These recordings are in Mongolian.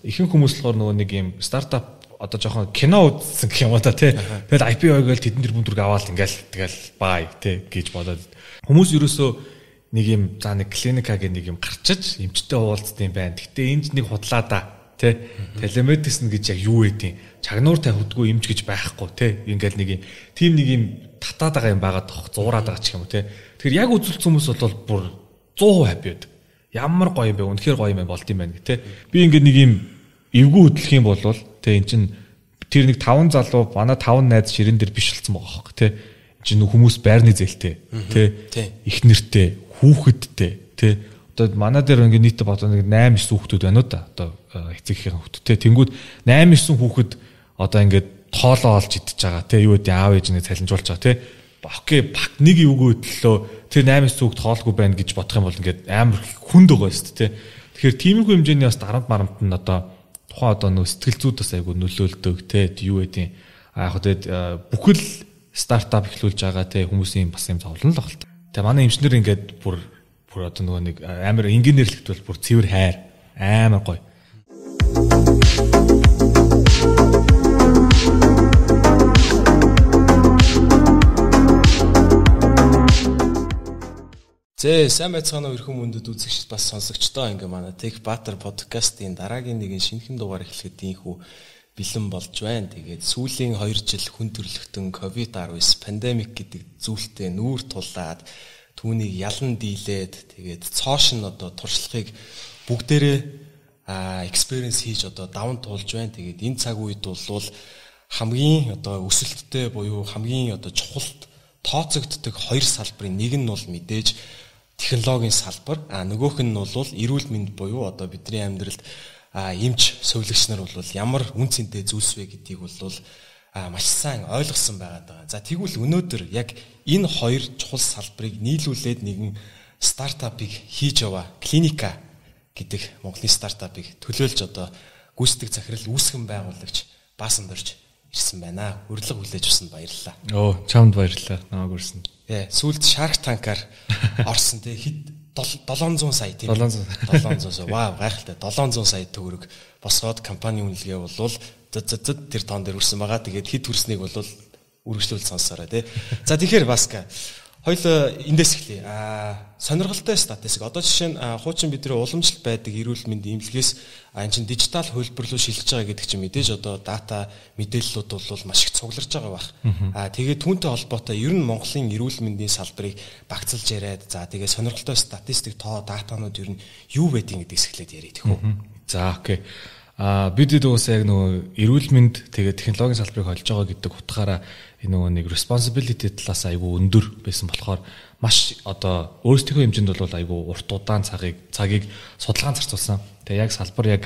ихэнх хүмүүс болохоор нөгөө нэг юм стартап одоо жоохон кино үзсэн гэх юм уу та тий. Тэгэл IPO гээл тэдэн тэрбум төгрөг аваад тэгэл бай тий гэж бодоод хүмүүс ерөөсөө нэг юм за нэг клиника гэх нэг юм гарчиж эмчтэй уулздаг юм байна. Гэтэ энд нэг худлаа да тий. Телемедицин гэж яг юу вэ? Чагнуур тавьдгүй эмч гэж байхгүй тий. Ингээл нэг юм тим нэг юм татаад байгаа юм байгаа тох зуураад байгаа ч юм уу тий. Тэгэхээр яг үзүүлсэн хүмүүс бол бүр 100% happy байдаг. Ямар гоё юм бэ? Үнэхээр гоё юм болд юм байна гэх тий. Би ингээд нэг юм эвгүй хөдлөх юм бол тий эн чин тэр нэг 5 залуу манай 5 найз ширэн дээр биш болсон байгаа хөөхгүй тий. Эн чин хүмүүс байрны зээлтэй тий. Их нэртэй, хүүхэдтэй тий. Одоо манай дээр ингээд нийтдээ бодоо нэг 8 9 хүүхдүүд байна уу да. Одоо эцэгхийн хүүхдтэй. Тэнгүүд 8 9 хүүхэд одоо ингээд тоолоо олж идэж байгаа тий. Юу гэдэг аав ээж нэг цалинжуулж байгаа тий. Окей, баг нэг эвгүй хөдлөө тэр 8 9 хүүхд тоолгүй байна гэж бодох юм бол ингээд амар хүнд байгаа шүү дээ тий. Тэгэхээр тиймэрхүү хэмжээний бас дарамт марамт нь одоо тухайн одоо нөө сэтгэл зүйд бас айгу нөлөөлдөг тий. Юу гэдэг яг хөө бүхэл стартап эхлүүлж байгаа тий хүмүүсийн бас юм зовлон л багт. Тэгээ манай эмчнэр ингээд бүр одоо нөгөө нэг амар инженерлэгт бол бүр цэвэр хайр амар гоё. Сайн байцгаана уу эрхэм мөндөд үзэгч бас сонсогчдоо ингээ манай Tech Batter подкастын дараагийн нэгэн шинэхэн дугаар эхлэхэд ийхүү бэлэн болж байна. Тэгээд сүүлийн 2 жил хүн төрлөختөн COVID-19 пандемик гэдэг зүйлтэй нүүр тулаад түүнийг ялан дийлээд тэгээд цоош нь одоо туршлагыг бүгдээрээ experience хийж одоо даван туулж байна. Тэгээд энэ цаг үед бол хамгийн одоо өсөлттэй буюу хамгийн одоо чухалд тооцогддог 2 салбарын нэг нь бол мэдээж технологийн салбар, нөгөөх нь бол эрүүл мэнд буюу одоо бидний амьдралд эмч совилогч нар бол ямар үн цэнтэй зүйлс вэ гэдгийг бол маш сайн ойлгосон байгаа. За тэгвэл өнөөдөр яг энэ 2 чухал салбарыг нийлүүлээд нэгэн стартапыг хийж яваа клиника гэдэг Монголын стартапыг төлөөлж одоо гүйцэтгэх захирал үүсгэн байгуулагч Баасан дорж ирсэн байна. Урилга хүлээж авсанд баярлалаа. Чамд баярлалаа. Намайг үрсэн. Сүүлд Shark Tank-аар орсон те хэд 700 сая тийм 700 сая. Вау, гайхалтай. 700 сая төгрөг босгоод компани үнэлгээ болвол тэр тоон дээр үрсэн байгаа. Тэгээд хэд хүрснийг бол үргэлжлүүл сонсоорой те. За тэгэхээр Баска хоёул эндээс эхлэе. Сонирхолтой статистик. Одоо жишээ нь хуучин бидний уламжлалт байдаг эрүүл мэндийн эмнэлгээс энэ чинь дижитал хөлбөр рүү шилжиж байгаа гэдэг чинь мэдээж одоо дата мэдээллүүд бол маш их цугларч байгаа бах. Тэгээд түүнтэй холбоотой ер нь Монголын эрүүл мэндийн салбарыг багцлж яриад за тэгээд сонирхолтой статистик датанууд ер нь юу байдгийг гэдгээс эхлээд яриа тэхүү. За окей. Бид уусаа яг нөгөө эрүүл мэнд тэгээд технологийн салбарыг холж байгаа гэдэг утгаараа энэ нөгөө нэг responsibility талаас айгүй өндөр байсан болохоор маш одоо өөрсдийнхөө хэмжээнд бол айгүй урт удаан цагийг судалгаан зарцуулсан. Тэгээ яг салбар яг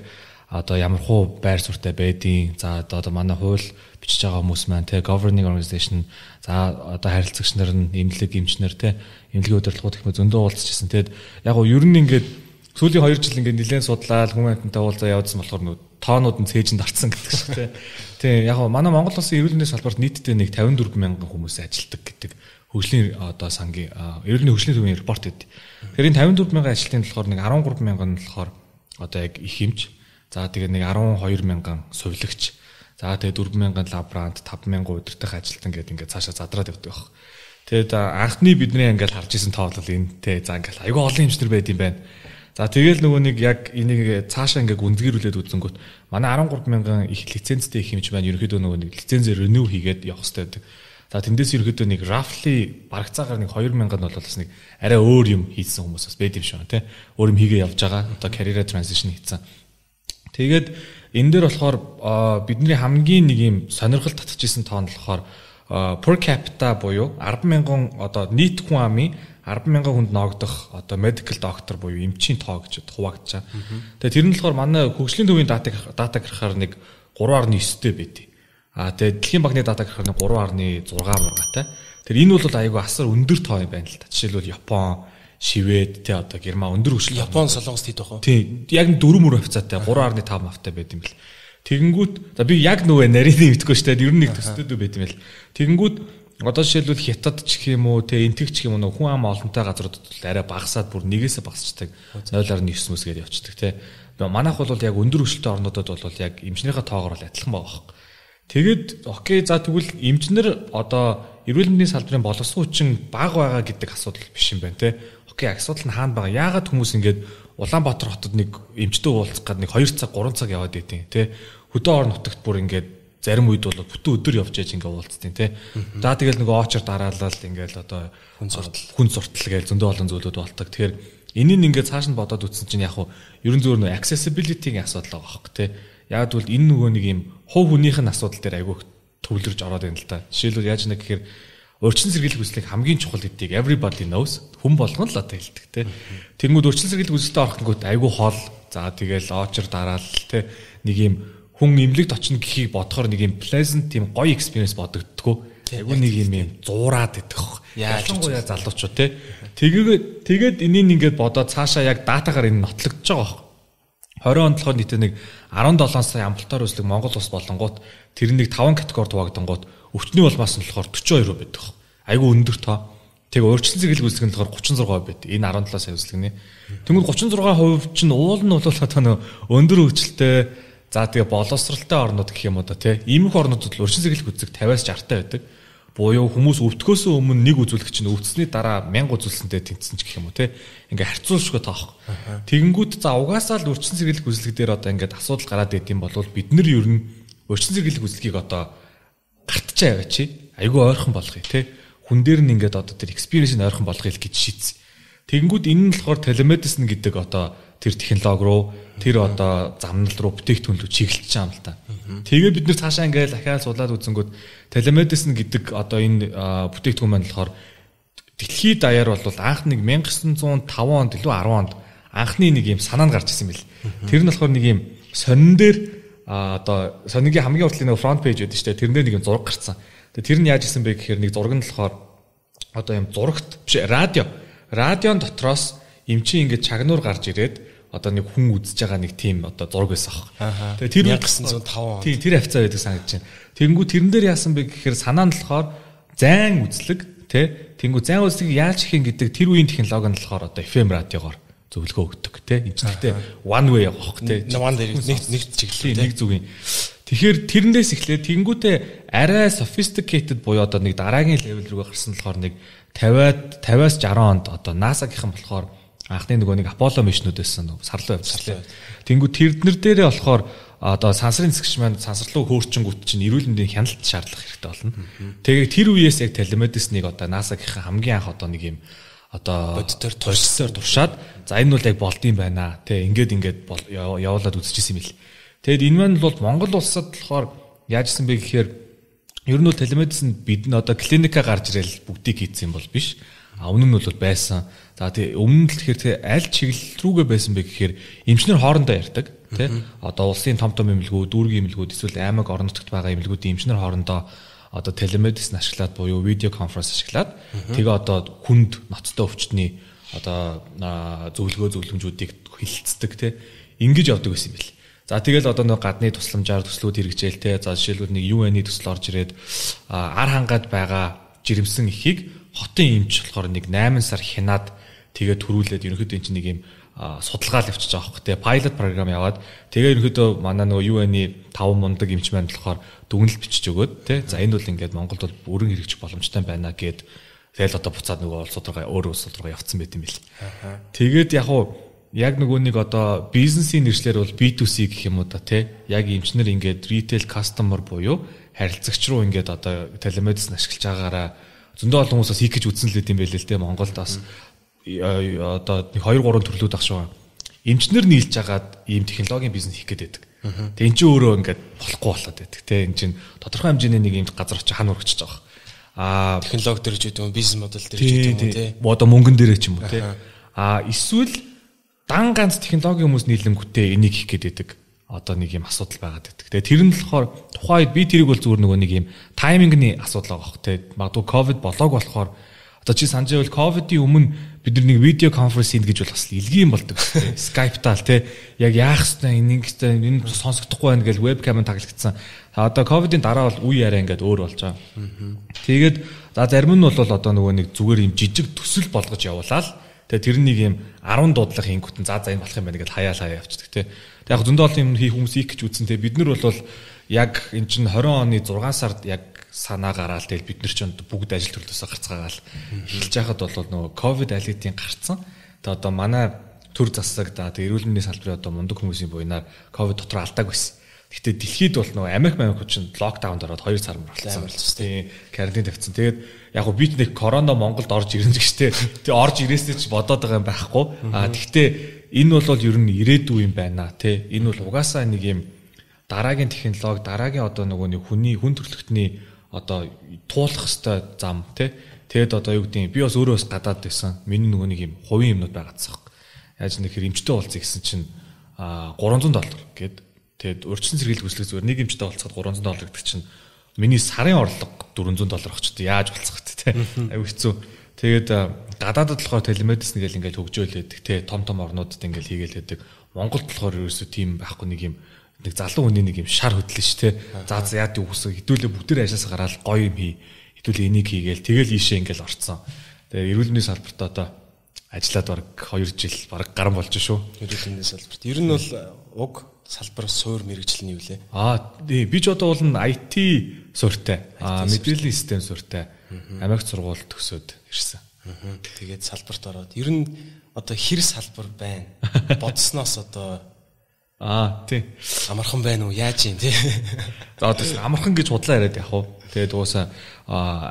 одоо ямар хуу байр суурьтай байдیں۔ За одоо манай хууль бичиж байгаа хүмүүс маань те governing organization за одоо харилцагч нар нь эмнэлэг эмчнэр те эмнэлгийн удирдлагууд их зөндөө уулзчихсан. Тэгээд яг гоо ер нь ингээд сүүлийн 2 жил ингээд нэлээд судлаад хүмүүнтэй уулзаа явуулсан болохоор нөө тоонууд нь цээжинд орцсон гэдэг шиг те. Тэгээ яг гоо манай Монгол улсын эрүүл мэндийн салбарт нийтдээ нэг 54 мянган хүмүүс ажилладаг гэдэг хөгжлийн одоо сангийн эрүүл мэндийн хөгжлийн төвийн репорт өгдөө. Тэгэхээр энэ 54 мянган ажилтны болохоор нэг 13 мянган нь болохоор одоо яг их эмч. За тэгээ нэг 12 мянган сувилагч. За тэгээ 4 мянган лаборант, 5 мянган удирдах ажилтан гэдэг ингээд цаашаа задраад явдаг баг. Тэгээд анхны бидний ингээд харж исэн тоо бол энэ те за ингээд айгүй олон эмчнэр байд юм байна. За тэгэл нөгөө нэг яг энийг цаашаа ингээ гүнзгийрүүлээд үзэнгүүт манай 13 мянган их лицензтэй их хэмж байна. Ерөнхийдөө нөгөө нэг лицензээр renew хийгээд явах хэрэгтэй байдаг. За тэндээс ерөнхийдөө нэг roughly барагцаагаар нэг 2 мянган бол бас нэг арай өөр юм хийсэн хүмүүс бас байд юм шиг байна тий. Өөр юм хийгээ явж байгаа. Одоо career transition хийсэн. Тэгээд энэ дээр болохоор бидний хамгийн нэг юм сонирхол татчихсан тоон болохоор per capita буюу 10 мянган одоо нийт хүн амын 10 мянган хүнд ноогдох одоо medical doctor буюу эмчийн тоо гэж хуваагдаж байгаа. Тэгээ тэр нь болохоор манай хөгжлийн төвийн дата гарахаар нэг 3.9-тэй байдیں۔ Тэгээ дэлхийн банкны дата гарахаар нэг 3.6 мургаатай. Тэр энэ бол айгүй асар өндөр тоо юм байна л та. Жишээлбэл Япон, Швед те одоо Герман өндөр хөгжил. Япон солонгост хэд байх вэ? Тийм. Яг 4.5-тай 3.5-тай байд юм бэл. Тэгэнгүүт за би яг нөгөө нарийн мэдгүй шүү дээ. Ер нь нэг төстэй байд юм бэл. Тэгэнгүүт одоо жишээлбэл Хятад ч гэх юм уу те энтэг ч гэх юм уу хүн ам олонтой газруудад арай багасаад бүр нэгээсээ багасчдаг 0.9-өөс гээд явцдаг те. Манайх бол яг өндөр хөгжилтэй орнуудад бол яг эмчнэрийнхээ тоогоор л адилхан байгаа байхгүй. Тэгээд окей за тэгвэл эмчнэр одоо эрүүл мэндийн салбарын боловсрол хүчин бага байгаа гэдэг асуудал биш юм байна те. Окей асуудал нь хаана байгаа? Яагаад хүмүүс ингээд Улаанбаатар хотод нэг эмчтэй уулзах гээд нэг 2 цаг 3 цаг яваад байдیں۔ Тэ хөдөө орон нутагт бүр ингээд зарим үед бол бүтэн өдөр явж яаж ингээд уулзтیں۔ Тэ. За тэгэл нэг очор дараалал ингээд одоо хүн суртал гэж зөндөө олон зүйлүүд болдог. Тэгэхээр энийг ингээд цааш нь бодоод үтсэн чинь яг хуу ерөн зөвөр нөө accessibility-гийн асуудал байгаа байхгүй тэ. Яг бол энэ нөгөө нэг юм хувь хүнийх нь асуудал дээр айгүй төвлөрж ороод байна л да. Жишээлбэл яаж нэг гэхээр урьдчилан сэргийлэх үзлийг хамгийн чухал гэдгийг everybody knows. Хүн болгон л одоо хэлдэг те. Тэнгүүд урьдчилан сэргийлэх үзэлтэй орохгүйд айгүй хол. За тэгэл очор дараал те. Нэг юм хүн имлэгт очно гэхийг бодохоор нэг юм pleasant тийм гоё experience бодогддгоо. Айгүй нэг юм зуураад идэх. Ялангуяа залуучууд те. Тэгээд энийг ингээд бодоод цаашаа яг датагаар энэ нотлогдож байгаа байхгүй. 20 онд болохоор нийтээ нэг 17 сая амбулаторь үзлэг Монгол улс болонгууд тэр нэг 5 категорид хуваагдангууд өвчтний улмаас нь болохоор 42% байдаг. Айгүй өндөр тоо. Тэгээ урьдчилан сэргийлэх үзлэг нь болохоор 36% байдаг. Энэ 17 сая үзлэгний. Тэгмэл 36% чинь уул нь бол одоо нөө өндөр хөгжилтэй за тэгээ боловсралтай орнууд гэх юм уу да тий. Иймэрхүү орнуудад л урьдчилан сэргийлэх үзлэг 50-аас 60-тай байдаг. Буюу хүмүүс өвдөхөөс өмнө нэг үзүүлэх чинь өвдсөний дараа 1000 үзүүлсэнтэй тэнцсэн ч гэх юм уу тий. Ингээ харьцуулшгүй таах. Тэгэнгүүт за угаасаа л урьдчилан сэргийлэх үзлэг дээр одоо ингээд асуудал гараад идэм бол бид нар ер нь урьдчилан сэргийлэх үзлэгийг одоо гартчаа яваа чи айгүй ойрхон болгоё тий. Хүн дээр нь ингээд одоо тэр experience-ийг ойрхон болгоё гэж шийдсэн. Тэгэнгүүт энэ нь болохоор telemedicine гэдэг одоо тэр технологи руу тэр одоо замнал руу бүтээгдэхүүн рүү чиглэж байгаа юм л та. Тэгээ бид нэр цаашаа ингээд ахиад суулаад үзэнгүүт telemedicine гэдэг одоо энэ бүтээгдэхүүн маань болохоор дэлхийд даяар бол анх нэг 1905 онд илүү 10 онд анхны нэг юм санаа нь гарч ирсэн байл. Тэр нь болохоор нэг юм сонин дээр одоо сонингийн хамгийн уртлын нэг фронт пэйж байдаг шүү дээ. Тэрнээр нэг юм зураг гарцсан. Тэгээ тэр нь яаж исэн бэ гэхээр нэг зураг нь болохоор одоо юм зурагт биш радион дотроос эмчийн ингээд чагнуур гарч ирээд одоо нэг хүн үзэж байгаа нэг тийм одоо зураг байсан аах. Тэгээ тэр 1905 он. Тийм тэр хавцаа байдаг санагдаж байна. Тэгэнгүү тэрэн дээр яасан бэ гэхээр санаа нь болохоор зайн үзлэг тий. Тэгэнгүү зайн үзлэгийг яаж хийх гэдэг тэр үеийн технологи нь болохоор одоо FM радиогоор зөвлөгөө өгдөг тий. Эмчнэртэй one way явах тий. Нэг чиглэлээ нэг зүгийн. Тэгэхээр тэрнээс эхлээд тэгэнгүүтээ арай sophisticated буюу одоо нэг дараагийн level рүү гарсан болохоор нэг 50-аас 60 онд одоо NASA-гийнхан болохоор анхны нөгөө нэг Apollo мишнүүд байсан сарлуу явуулсан. Тэнгүү тэрнэр дээрээ болохоор одоо сансрын зэвсэгч маань сансарлуу хөөрчөнгүүт чинь эрүүл мэндийн хяналт шаардлага хэрэгтэй болно. Тэгээ тэр үеэс яг телемедициныг одоо NASA-гийнхан хамгийн анх одоо нэг юм одоо бодитоор туршаад за энэ бол яг болдсон байна. Тэ ингээд явуулаад үзчихсэн юм бил. Тэгэд энэ маань бол Монгол улсад болохоор яажсэн бэ гэхээр ер нь бол телемедицин бид нь одоо клиника гарч ирэл бүгдийг хийсэн юм бол биш. Өмнө нь бол байсан. За тий өмнө нь л тэгэхээр аль чиглэл рүүгээ байсан бэ гэхээр эмчнэр хоорондоо ярьдаг тий. Одоо улсын том эмнэлгүүд, дүүргийн эмнэлгүүд эсвэл аймаг орон нутагт байгаа эмнэлгүүдийн эмчнэр хоорондоо одоо телемедицин ашиглаад буюу видео конференц ашиглаад тэгээ одоо хүнд ноцтой өвчтний одоо зөвлөмжүүдийг хилцдэг тий. Ингэж явдаг байсан юм бэл. За тэгэл одоо нэг гадны тусламжаар төслүүд хэрэгжээл те. За жишээлбэл нэг UN-ийн төсөл орж ирээд ар хангаад байгаа жирэмсэн эхийг хотын эмч болохоор нэг 8 сар хянаад тэгээ төрүүлээд ерөнхийдөө энэ чинь нэг юм судалгаа л явчихж байгаа хөх те. Pilot program яваад тэгээ ерөнхийдөө манай нөгөө UN-ийн 5 мундаг эмч маань болохоор дүгнэлт бичиж өгөөд те. За энэ бол ингээд Монголд бол өрн хэрэгжих боломжтой байна гэд тэгэл одоо буцаад нөгөө улс руугаа өөр улс руугаа явцсан байт юм бэл. Тэгээд яг нөгөө нэг одоо бизнесийн нэршлэр бол B2C гэх юм уу да тий. Яг эмчнэр ингээд retail customer буюу харилцагч руу ингээд одоо телемедицин ашиглаж байгаагаараа зөндөө олон хүмүүс бас хийх гэж үзсэн л байт юм байл л тий. Монголд бас одоо 2-3 төрлүүд ах шүү. Эмчнэр нийлж агаад ийм технологийн бизнес хийх гээд байдаг. Тэгээ эн чинь өөрөө ингээд болохгүй болоод байдаг тий. Эн чинь тодорхой хэмжээний нэг ийм газар очиж хан урагчиж байгаа. Технологи дээр ч гэдэг юм, бизнес модель дээр ч гэдэг юм тий. Одоо мөнгөн дээр ч юм уу тий. Эсвэл дан ганц технологийн хүмүүс нийлэнгүүтээ энийг хийх гээд байдаг. Одоо нэг юм асуудал байгаад байдаг. Тэгээ тэр нь болохоор тухайд би тэрийг бол зүгээр нөгөө нэг юм таймингны асуудал байгаа хөх тий. Магадгүй ковид болоог болохоор одоо чи санаж байвал ковидын өмнө бид нар нэг видео конференц хийж гэж бол бас илгийн болдог тий. Skype-таал тий. Яг яах вэ энэ сонсогдохгүй байна гэж вебкамын таглагдсан. Одоо ковидын дараа бол үе яриа ингээд өөр болж байгаа. Тэгээд за зарим нь бол одоо нөгөө нэг зүгээр юм жижиг төсөл болгож явуулаад Тэгээ тэр нэг юм 10 дуудлага хийнгүүтэн за энэ болох юм байна гэдээ хаяа явчихдаг те. Тэгээ яг зөндөө олон юм хийх хүмүүс их гэж үзсэн те. Бид нар бол яг эн чинь 20 оны 6 сард яг санаа гараал тэгэл бид нар ч бүгд ажил төрлөөсөө гарцгаагаал эхэлж байхад бол нөгөө ковид алидийн гарцсан. Тэгээ одоо манай төр засаг тэгээ эрүүл мэндийн салбарын одоо мундаг хүмүүсийн буйнаар ковид дотор алдааг байсан. Гэхдээ дэлхийд бол нөгөө Америк чинь локдаунд ороод 2 сар мөрөлдсөн. Тийм карантин тавьсан. Тэгээд яг гоо бид нэг корона Монголд орж ирнэ гэжтэй. Тэгээ орж ирээсээ ч бодоод байгаа юм байхгүй. Гэхдээ энэ бол ер нь ирээдүй юм байна тий. Энэ бол угаасаа нэг юм дараагийн технологи, дараагийн одоо нөгөө нэг хүн төрөлхтний одоо туулах хэвээр зам тий. Тэгэд одоо юу гэдэг би бас өөрөө бас гадаад байсан. Миний нөгөө нэг юм хувийн юмнууд байгаадсан. Яаж нэхэр эмчтэй уулзъя гэсэн чинь $300 гээд тэгээд урьдчилан сэргийлэх хүслэг зүгээр нэг эмчтэй уулзахад $300 гэдэг чинь миний сарын орлого $400 авчихдаг. Яаж болцох вэ те? Аюу хэцүү. Тэгээд гадаадд болохоор телемедицин гэл ингээл хөгжөөлөдөг те том орнуудад ингээл хийгээл байдаг. Монголд болохоор ерөөсөө тийм байхгүй нэг юм нэг залуу хүний нэг юм шар хөдлөн ш те. За яад юу хүсэ хэдүүлээ бүгдээр ажлаас гараад гоё юм хий. Хэдүүлээ энийг хийгээл тэгэл ийшээ ингээл орцсон. Тэгээд эрүүл мэндийн салбарт одоо ажиллаад бараг 2 жил бараг гарan болж шүү. Эрүүл мэндийн салбарт. Ер нь бол уг салбар суур мэрэгжил нь юу лээ? Би ч одоо бол IT суурьтай. Мэдээллийн систем суурьтай. Америк сургууль төгсөөд ирсэн. Тэгээд салбарт ороод ер нь одоо хэр салбар байна? Бодсноос одоо тий. Амархан байна уу? Яаж юм тий? За одоо амархан гэж худлаа яриад явах уу? Тэгээд уусаа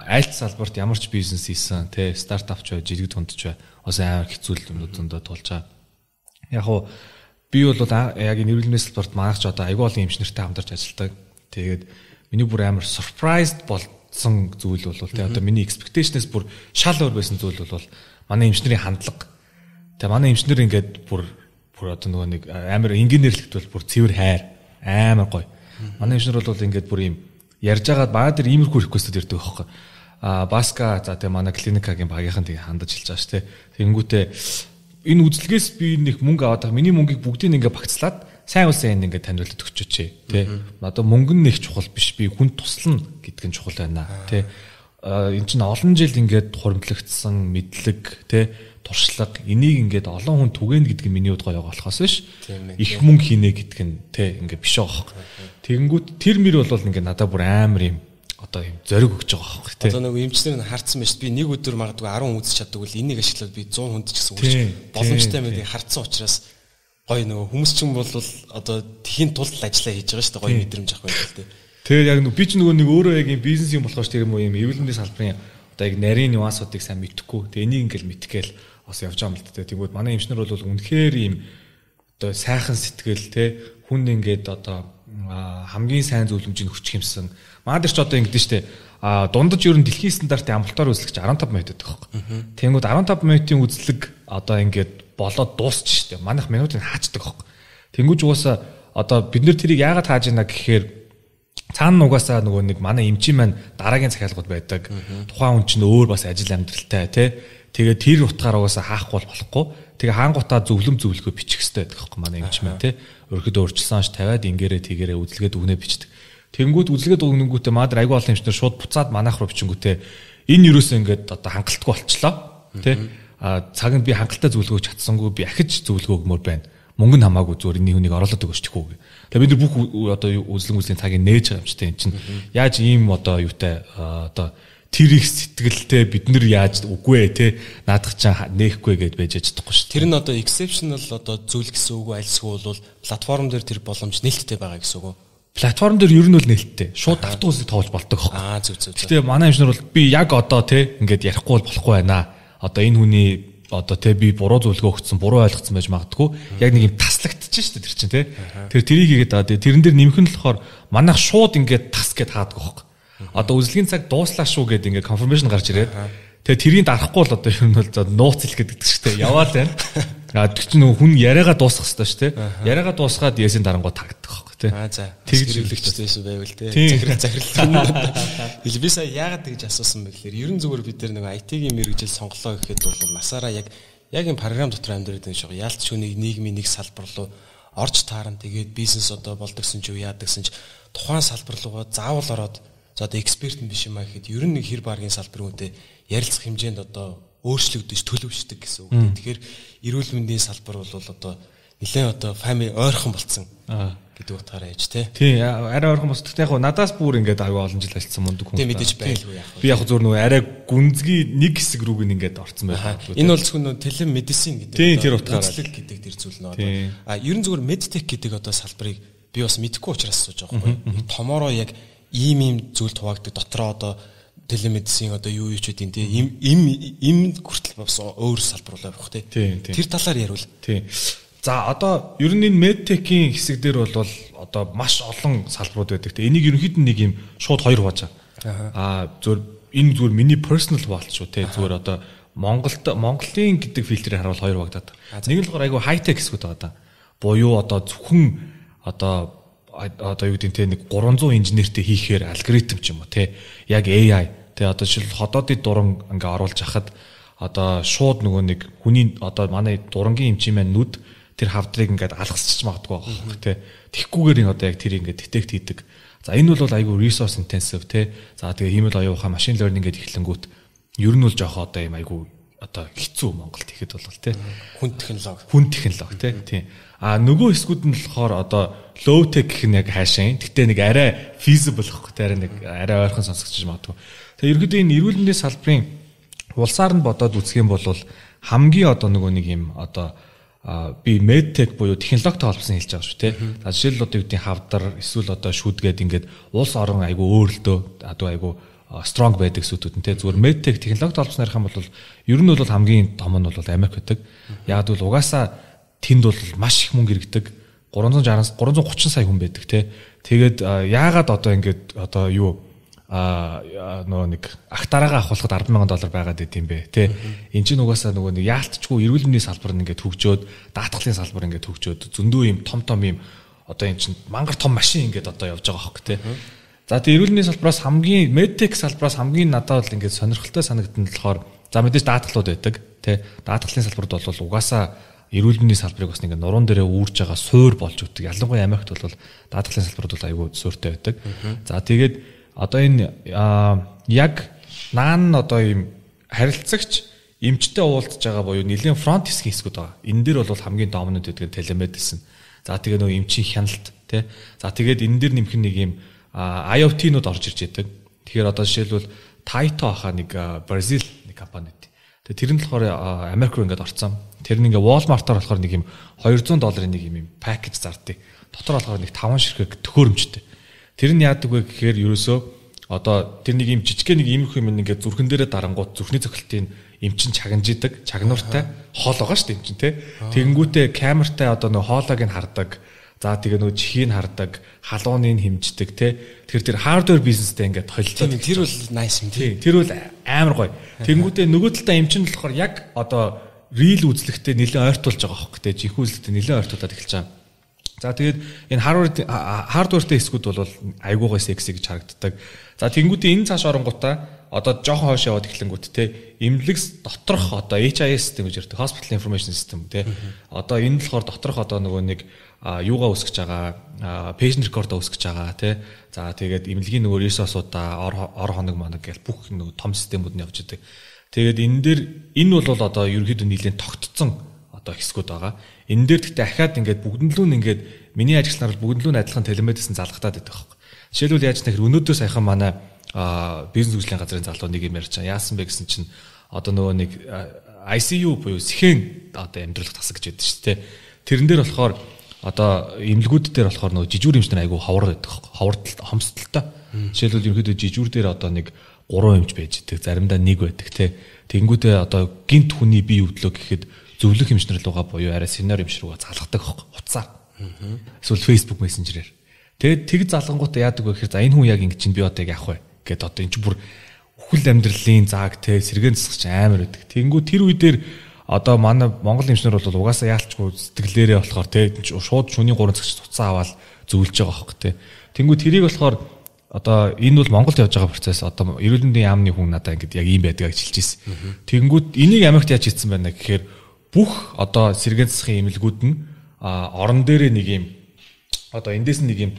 айлт салбарт ямар ч бизнес хийсэн, тий, стартап ч бай, жиргэг тундч бай. Уусаа амар хэцүү юмнуудад тулж байгаа. Яг уу би бол яг энэ эрүүл мэндийн салбарт манайх ч одоо аягүй олон эмчнэртэй хамтарч ажилладаг. Тэгээд миний бүр амар surprised болсон зүйл бол тий одоо миний expectation-ээс бүр шал өөр байсан зүйл бол манай эмчнэрийн хандлага. Тэгээ манай эмчнэр ингээд бүр одоо нөгөө нэг амар инженерлэгт бол бүр цэвэр хайр амар гоё. Манай эмчнэр бол ингээд бүр юм ярьж байгаад баа дээр иймэрхүү request-д ирдэг байхгүй. Баска за тэгээ манай клиникагийн багийнхан тэгээ хандаж хэлж байгаа ш тий. Тэнгүүтээ энэ үзлэгээс би нэг мөнгө аваад байгаа. Миний мөнгийг бүгдийг ингээ багцлаад сайн улсын ингээ таниулаад өгчөөч тий. Одоо мөнгө нь нэг чухал биш. Би хүн туслана гэдг нь чухал байна тий. Энд чинь олон жил ингээд хуримтлагдсан мэдлэг тий туршлага энийг ингээд олон хүн түгээнэ гэдэг нь миний хувьд гоё болохоос биш. Их мөнгө хийнэ гэдэг нь тий ингээ биш байгаа. Тэгэнгүүт тэр мөр бол ингээ надад бүр амар юм одоо юм зориг өгч байгаа байхгүй тий. Одоо нэг эмчнэр нь харцсан байж би нэг өдөр магадгүй 10 үзэж чаддаг бол энийг ашиглаад би 100 хүнд ч гэсэн үрж боломжтой мэдээ харцсан учраас гоё нөгөө хүмүүс чинь бол одоо тхийн тулд ажиллаа хийж байгаа шүү дээ гоё мэдрэмж авах байх л тий. Тэгээд яг би ч нөгөө нэг өөрөө яг юм бизнес юм болохоор ч тэр юм эрүүл мэндийн салбарын одоо яг нарийн нюансуудыг сайн мэдэхгүй. Тэгээ энийг ингээл мэдгээл бас явж байгаа юм л дээ. Тэгвэл манай эмчнэр бол үнэхээр юм одоо сайхан сэтгэл тий хүн ингээд одоо хамгийн сайн зөвлөмжийг өгчих юмсан. Маад ч одоо ингэдэж штэ дундаж ер нь дэлхийн стандартын амралтаар үзлэгч 15 минут байдаг байхгүй. Тэнгүүд 15 минутын үзлэг одоо ингээд болоод дуусч штэ. Манайх минутыг хаачдаг байхгүй. Тэнгүүж угаасаа одоо бид нэр тэрийг яагаад хааж ийна гэхээр цаана угаасаа нөгөө нэг манай эмчийн маань дараагийн захиалгууд байдаг. Тухайн хүн чинь өөр бас ажил амьдралтай тий. Тэгээ тэр утгаар угаасаа хаахгүй болохгүй. Тэгээ хаангуудаа зөвлөгөө бичих хэрэгтэй байдаг байхгүй манай эмч маань тий. Өрхөд өөрчилсөн ш тавиад ингэрээ тэгэрээ үзлэгээд өгнө бичдэг. Тэнгүүд үзлэгээд өгнөнгүүтээ маад айгүй олон эмчнэр шууд буцаад манайх руу бичингүүтээ энэ юуроос ингээд одоо хангалтгүй болчлоо тий. Цагт би хангалттай зөвлөгөө чадсангүй би ахиж зөвлөгөө өгмөр байна. Мөнгө нь хамаагүй зүгээр энэ хүнийг оруулаад өгөөч чихгүй. Тэгээ бид нар бүх одоо үзлийн цагийг нээж байгаа юм чи тийм чинь яаж ийм одоо юутай одоо тэр их сэтгэлтэй бид нар яаж үгүй те наадах чаа нээхгүй гэж байж чадахгүй шүү. Тэр нь одоо exceptional одоо зүйл гэсэн үг альсгүй бол платформ дээр тэр боломж нээлттэй байгаа гэсэн үг. Платформ дээр ер нь бол нээлттэй. Шууд давтгуулсыг тоолж болдог хөө. Зөв. Гэтэ манай эмчнэр бол би яг одоо те ингээд ярихгүй болохгүй байна. Одоо энэ хүний одоо те би буруу зөвлөгөө өгсөн, буруу ойлгоцсон байж магадгүй. Яг нэг юм таслагдчих шүү дээ тэр чинь те. Тэр тэрийг хийгээд тэрэн дээр нэмэх нь болохоор манайх шууд ингээд тас гэд хаадаг байхгүй. Одоо үзлэгийн цаг дууслаа шүү гэдэг ингээд confirmation гарч ирээд тэгээ тэрийг дарахгүй бол одоо ер нь бол нууц хэлэх гэдэг шүү дээ. Яваал байна. Тэр чинь хүн яриагаа дуусгах хэрэгтэй шүү дээ. Яриагаа дуусгаад ясийн дарангууд тагдаг байхгүй те. Тэгж хэрэглэгчтэйсэн байвал те. Захирал. Би сая яагаад тэгж асуусан бэ гэхээр ерөн зүгээр бид нар нэг IT-ийн мэрэгжил сонголоо гэхэд бол насаараа яг энэ програм дотор амьдраад байгаа шүү. Яалт шүнийг нийгмийн нэг салбар руу орж таарна. Тэгээд бизнес одоо болдогсон ч юу яадагсан ч тухайн салбар руугаа заавал ороод за одоо эксперт нь биш юм аа гэхэд ер нь нэг хэр баргийн салбарын үнэтэй ярилцах хэмжээнд одоо өөрчлөгдөж төлөвшдөг гэсэн үг. Тэгэхээр эрүүл мэндийн салбар бол одоо нэлээд одоо family ойрхон болцсон гэдэг утгаараа яж тий. Тий, арай ойрхон босдогт яг надаас бүр ингээд аюу олон жил ажилласан мундаг хүн. Тий, мэдээж байлгүй яг. Би яг зөвөр нөгөө арай гүнзгий нэг хэсэг рүүг ингээд орцсон байна. Энэ бол зөвхөн телемедицин гэдэг. Тий, тэр утгаараа гэдэг тэр зүйл нөө. Ерөн зөвөр medtech гэдэг одоо салбарыг би бас мэдэхгүй учраас асууж байгаа байхгүй. Томороо яг ийм зүйлд хуваагддаг дотроо одоо телемедицин одоо юу ч үгүй тий. Им хүртэл бас өөр салбар болоо явах тий. Тэр талаар яривал. Тий. За одоо ер нь энэ медтекийн хэсэг дээр бол одоо маш олон салбарууд байдаг. Энийг ерөнхийдөө нэг юм шууд хоёр хувааж байгаа. Зөв энэ зүгээр миний personal хуваалт шүү те. Зүгээр одоо Монголын гэдэг фильтрээр харуул хоёр хуваагдаад. Нэг нь болохоор айгүй хайтек хэсгүүд байгаа да. Буюу одоо зөвхөн одоо юу гэдэг те нэг 300 инженертэй хийхээр алгоритм ч юм уу те. Яг AI те одоо жишээл ходоодын дуран ингээ оруулж хахад одоо шууд нөгөө нэг хүний одоо манай дурангийн эмчийн маань нүд тэр хавдрыг ингээд алгасчих магадгүй байгаа тий. Тэгхгүйгээр одоо яг тэр ингээд детект хийдэг. За энэ бол айгүй resource intensive тий. За тэгээ хиймэл оюухаа машин learning гэдэг эхлэнгүүт ер нь бол жоох одоо юм айгүй одоо хэцүү Монголд ихэд бол тий. Хүн технологи тий. Нөгөө хэсгүүд нь болохоор одоо low tech гэх нь яг хаашаа. Гэтэ нэг арай feasible гэхгүй тий. Арай ойрхон сонсогдож магадгүй. Тэгээ ерөөдөө энэ эрүүл мэндийн салбарын улсаар нь бодоод үзэх юм бол хамгийн одоо нөгөө нэг юм одоо би medtech буюу технологитой холбосон хэлж байгаа шүү тий. За жишээл одоо юу гэдэг хавдар эсвэл одоо шүдгээд ингээд улс орон айгу өөрлөлтөө одоо айгу strong байдаг сүтүүд нь тий. Зүгээр medtech технологитой холбосон ярих юм бол ер нь бол хамгийн том нь бол Америк байдаг. Яг бол угаасаа тэнд бол маш их мөнгө иргэдэг. 330 сая хүн байдаг тий. Тэгээд яагаад одоо ингээд одоо юу нөгөө нэг ахтараагаа авахлахад $10,000 байгаад байт юм бэ тий. Энд чинь угаасаа нөгөө нэг яалтчгүй эрүүл мэндийн салбар нь ингээд хөгжөөд даатгалын салбар ингээд хөгжөөд зөндөө юм том юм одоо энэ чинь мангар том машин ингээд одоо явж байгаа хөөхгүй тий. За тэгээ эрүүл мэндийн салбараас хамгийн медтек салбараас хамгийн надад бол ингээд сонирхолтой санагдсан болохоор за мэдээж даатгалууд байдаг тий. Даатгалын салбарт бол угаасаа эрүүл мэндийн салбарыг бас ингээд нуруунд дээрээ үүрж байгаа суур болж өгдөг. Ялангуяа Америкт бол даатгалын салбарт бол аюул сууртай байдаг. За тэгээд одоо энэ яг наан одоо юм харилцагч эмчтэй уулзж байгаа буюу нэлийн фронт хэсгийн хэсгүүд байгаа. Энэ дээр бол хамгийн доминант гэдэг нь телемедицин. За тэгээ нөгөө эмчийн хяналт тий. За тэгээд энэ дээр нэмэх нэг юм IoT-нууд орж ирж байдаг. Тэгэхээр одоо жишээлбэл Taito хаа нэг Бразил нэг компани. Тэгээ тэр нь болохоор Америк руу ингээд орцсон. Тэр нь ингээ Walmart-аар болохоор нэг юм $200 нэг юм пакэж зардыг. Дотор болохоор нэг 5 ширхэг төхөөрөмжтэй. Тэр нь яадаг вэ гэхээр ерөөсөө одоо тэр нэг юм жижигхэн нэг иймэрхүү юм ингээд зүрхэн дээрээ дарангууд зүрхний цохилтын эмчин чагнаж идэг, чагнууртай хоол байгаа шүү дээ эмчин тий. Тэгэнгүүтээ камертай одоо нэг хоолойг нь хардаг. За тэгээ нөгөө чихийг хардаг, халууныг хэмждэг тий. Тэр хардвер бизнестэй ингээд холилдсон. Тэр бол nice юм тий. Тэр бол амар гоё. Тэгэнгүүтээ нөгөө талдаа эмчин болохоор яг одоо real үзлэгтэй нэлээд ойртуулж байгаа хөөхгүй тий. Жинхэнэ үзлэгтэй нэлээд ойртуулаад эхэлж байгаа. За тэгээд энэ хардвертэй хэсгүүд бол айгуугай секси гэж харагддаг. За тэгэнгүүтээ энэ цааш оронгуудаа одоо жоохон хойш яваад эхлэнгүүт те эмнэлэгс доторх одоо HIS систем гэж ярьдаг hospital information system те одоо энэ болохоор доторх одоо нөгөө нэг юугаа үсгэж байгаа patient record-а үсгэж байгаа те за тэгээд эмнэлгийн нөгөө resource-уудаа ор хоног манаг гэл бүх нөгөө том системүүд нь явж идэг. Тэгээд энэ дээр энэ бол одоо ерөнхийдөө нэлээд тогтцсон одоо хэсгүүд байгаа. Энэ дээр гэхдээ ахаад ингээд бүгднлүү нь ингээд миний ажиглалаар бүгднлүү нь адилхан телемедицин залгатаад байдаг байхгүй. Жишээлбэл яаж нэхэр өнөөдөр саяхан манай бизнес хөгжлийн газрын залуу нэг юм ярьж байгаа. Яасан бэ гэсэн чинь одоо нөгөө нэг ICU буюу сэхэн одоо амьдралах тасаг гэж байдаг шүү дээ. Тэрэн дээр болохоор одоо эмнэлгүүд дээр болохоор нөгөө жижүүр эмчнэр айгу ховор байдаг байхгүй. Ховордолтой хомсдолтой. Жишээлбэл ерөнхийдөө жижүүр дээр одоо нэг 3 эмч байж идэг. Заримдаа 1 байдаг те. Тэнгүүдээ одоо гинт хүний бие өвдлөө гэхэд зөвлөх эмчнэр руугаа буюу арай сеньор эмч руугаа залгадаг байхгүй. Уцаар. Эсвэл Facebook Messenger-ээр. Тэгээд тэг залгангуудаа яадаг вэ гэхээр за энэ хүн яг ингэ чинь би одоо яг явах вэ гэд одоо энэ чинь бүр үхэл амьдралын зааг те сэргэн засгч амар байдаг. Тэнгүү тэр үе дээр одоо манай Монгол эмчнэр бол угаасаа яалчгүй сэтгэлээрээ болохоор те шууд шөнийн 3 цагт туцаа аваад зөвлөж байгаа байхгүй те. Тэнгүү тэрийг болохоор одоо энэ бол Монголд явж байгаа процесс одоо эрүүл мэндийн яамны хүн надаа ингэ яг ийм байдаг гэж хэлж ирсэн. Тэнгүүд энийг Америкт яаж хийсэн байна гэхээр бүх одоо сэргэн засгын эмнэлгүүд нь орон дээрээ нэг юм одоо эндээс нэг юм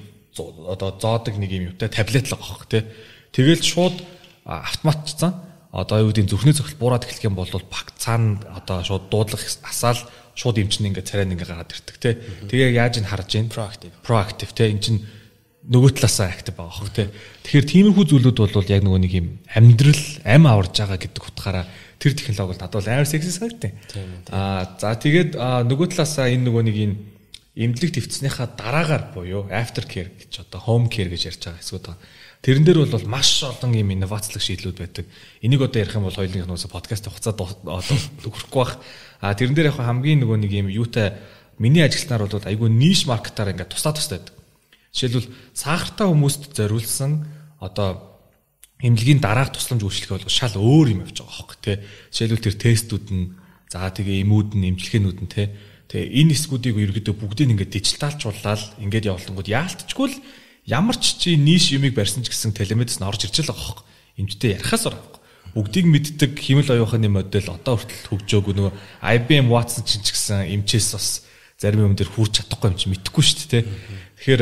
одоо зоодог нэг юм юутай таблет л байгаа хөх тий. Тэгэл шууд автоматцсан одоо юу гэдэг зүрхний цогцол буураад эхлэх юм бол баг цаана одоо шууд дуудлах асаал шууд эмчнээ ингээд царай нь ингээд гараад ирдэг те. Тэгээ яаж ин харж ийн proactive те. Энд чинь нөгөө талаасаа active байгаа хөх те. Тэгэхээр тиймэрхүү зүйлүүд бол яг нөгөө нэг юм амьдрал ам аварж байгаа гэдэг утгаараа тэр технологи бол надад амар секси санагдтыг. За тэгээд нөгөө талаасаа энэ нөгөө нэг энэ эмнэлэг твцснийхаа дараагаар буюу after care гэж одоо home care гэж ярьж байгаа хэсгүүд байгаа. Тэрэн дээр бол маш олон юм инновацлог шийдлүүд байдаг. Энийг одоо ярих юм бол хоёулынх нь подкаст хугацаа одоо хүрхгүй бах. Тэрэн дээр яг хамгийн нөгөө нэг юм юутай миний ажилтнаар бол айгүй ниш маркетаар ингээд туслаад байдаг. Жишээлбэл сахартай хүмүүст зориулсан одоо эмнэлгийн дараах тусламж үйлчлэх бол шал өөр юм явж байгаа хөөхгүй тий. Жишээлбэл тэр тестүүд нь за тэгээ эмүүд нь эмчилгээнүүд нь тий. Тэгээ энэ хэсгүүдийг ерөөдөө бүгдийг ингээд дижиталчуулаад ингээд явуулангууд яалтчгүй л ямар ч чи ниш юмыг барьсан ч гэсэн телемедицин орж ирж л байгаа хөөхгүй. Эмчтэй ярихаас орох. Бүгдийг мэддэг хэмэл оюухны модель одоо хүртэл хөгжөөгүй нөгөө IBM Watson ч гэсэн эмчээс бас зарим юм дээр хүрч чадахгүй юм чи мэдэхгүй шүү дээ тий. Тэгэхээр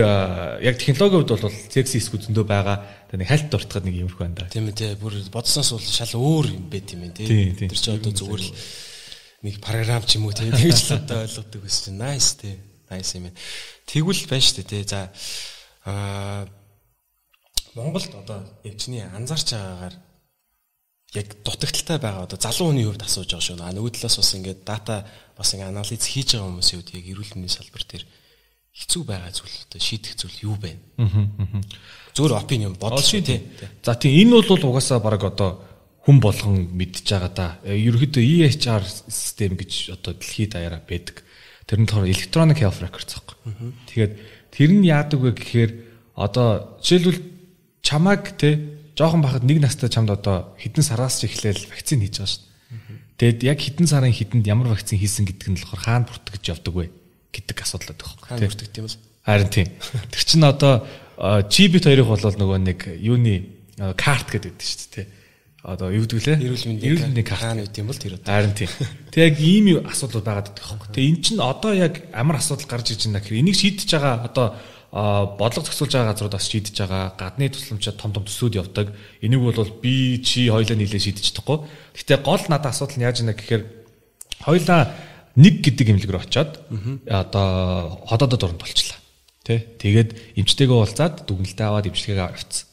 яг технологийн хувьд бол секси хэсгүүд зөндөө байгаа. Тэгээ нэг хальт дуртахад нэг юмрх байна да. Тийм ээ тий. Бүр бодсноос бол шал өөр юм байт юм тий. Тэр чи одоо зүгээр л нэг програм ч юм уу тий. Тэгж л одоо ойлгодог гэсэн чинь nice тий. Nice юм. Тэгвэл байна шүү дээ тий. За Монголд одоо эмчний анзаарч байгаагаар яг дутагдaltaй байгаа одоо залуу хүний хувьд асууж байгаа шүү. Нөгөө талаас бас ингээд дата бас ингээд анализ хийж байгаа хүмүүсийн хувьд яг эрүүл мэндийн салбар дээр хэцүү байгаа зүйл одоо шийдэх зүйл юу байна? Зүгээр опинион бодож тий. За тийм энэ бол угаасаа баг одоо хүн болгон мэдж байгаа да. Ерөнхийдөө EHR систем гэж одоо дэлхийд даяараа байдаг. Тэр нь болохоор electronic health records байхгүй. Тэгээд тэр нь яадаг вэ гэхээр одоо жишээлбэл чамааг тий жоохон бахад нэг настай чамд одоо хэдэн сараас ч эхлээл вакцин хийж байгаа шүү дээ. Тэгэд яг хэдэн сарын хэдэнд ямар вакцин хийсэн гэдэг нь болохоор хаана бүртгэж явдаг вэ гэдэг асуудал байдаг байхгүй. Хаана бүртгэх юм бол? Харин тийм. Тэр чинь одоо чибит хоёрыг бол нөгөө нэг юуны карт гэдэг шүү дээ. Одоо юу гэдэг лээ? Эрүүл мэндийн карт хаана үт юм бол тэр одоо. Харин тийм. Тэг яг ийм асуудал байгаад байдаг байхгүй. Тэг эн чинь одоо яг амар асуудал гарч иж байна гэхээр энийг шийдэж байгаа одоо бодлого зохицуулж байгаа газрууд бас шийдэж байгаа. Гадны тусламжид том төслүүд явдаг. Энийг бол би чи хоёлаа нийлээ шийдэж чадахгүй. Гэхдээ гол надад асуудал нь яаж байна гэхээр хоёлаа нэг гэдэг имлэг рүү очиод одоо ходоодод оронд болчлаа. Тэ? Тэгээд эмчтэйгээ уулзаад дүгнэлтээ аваад эмчилгээгээ авчихсан.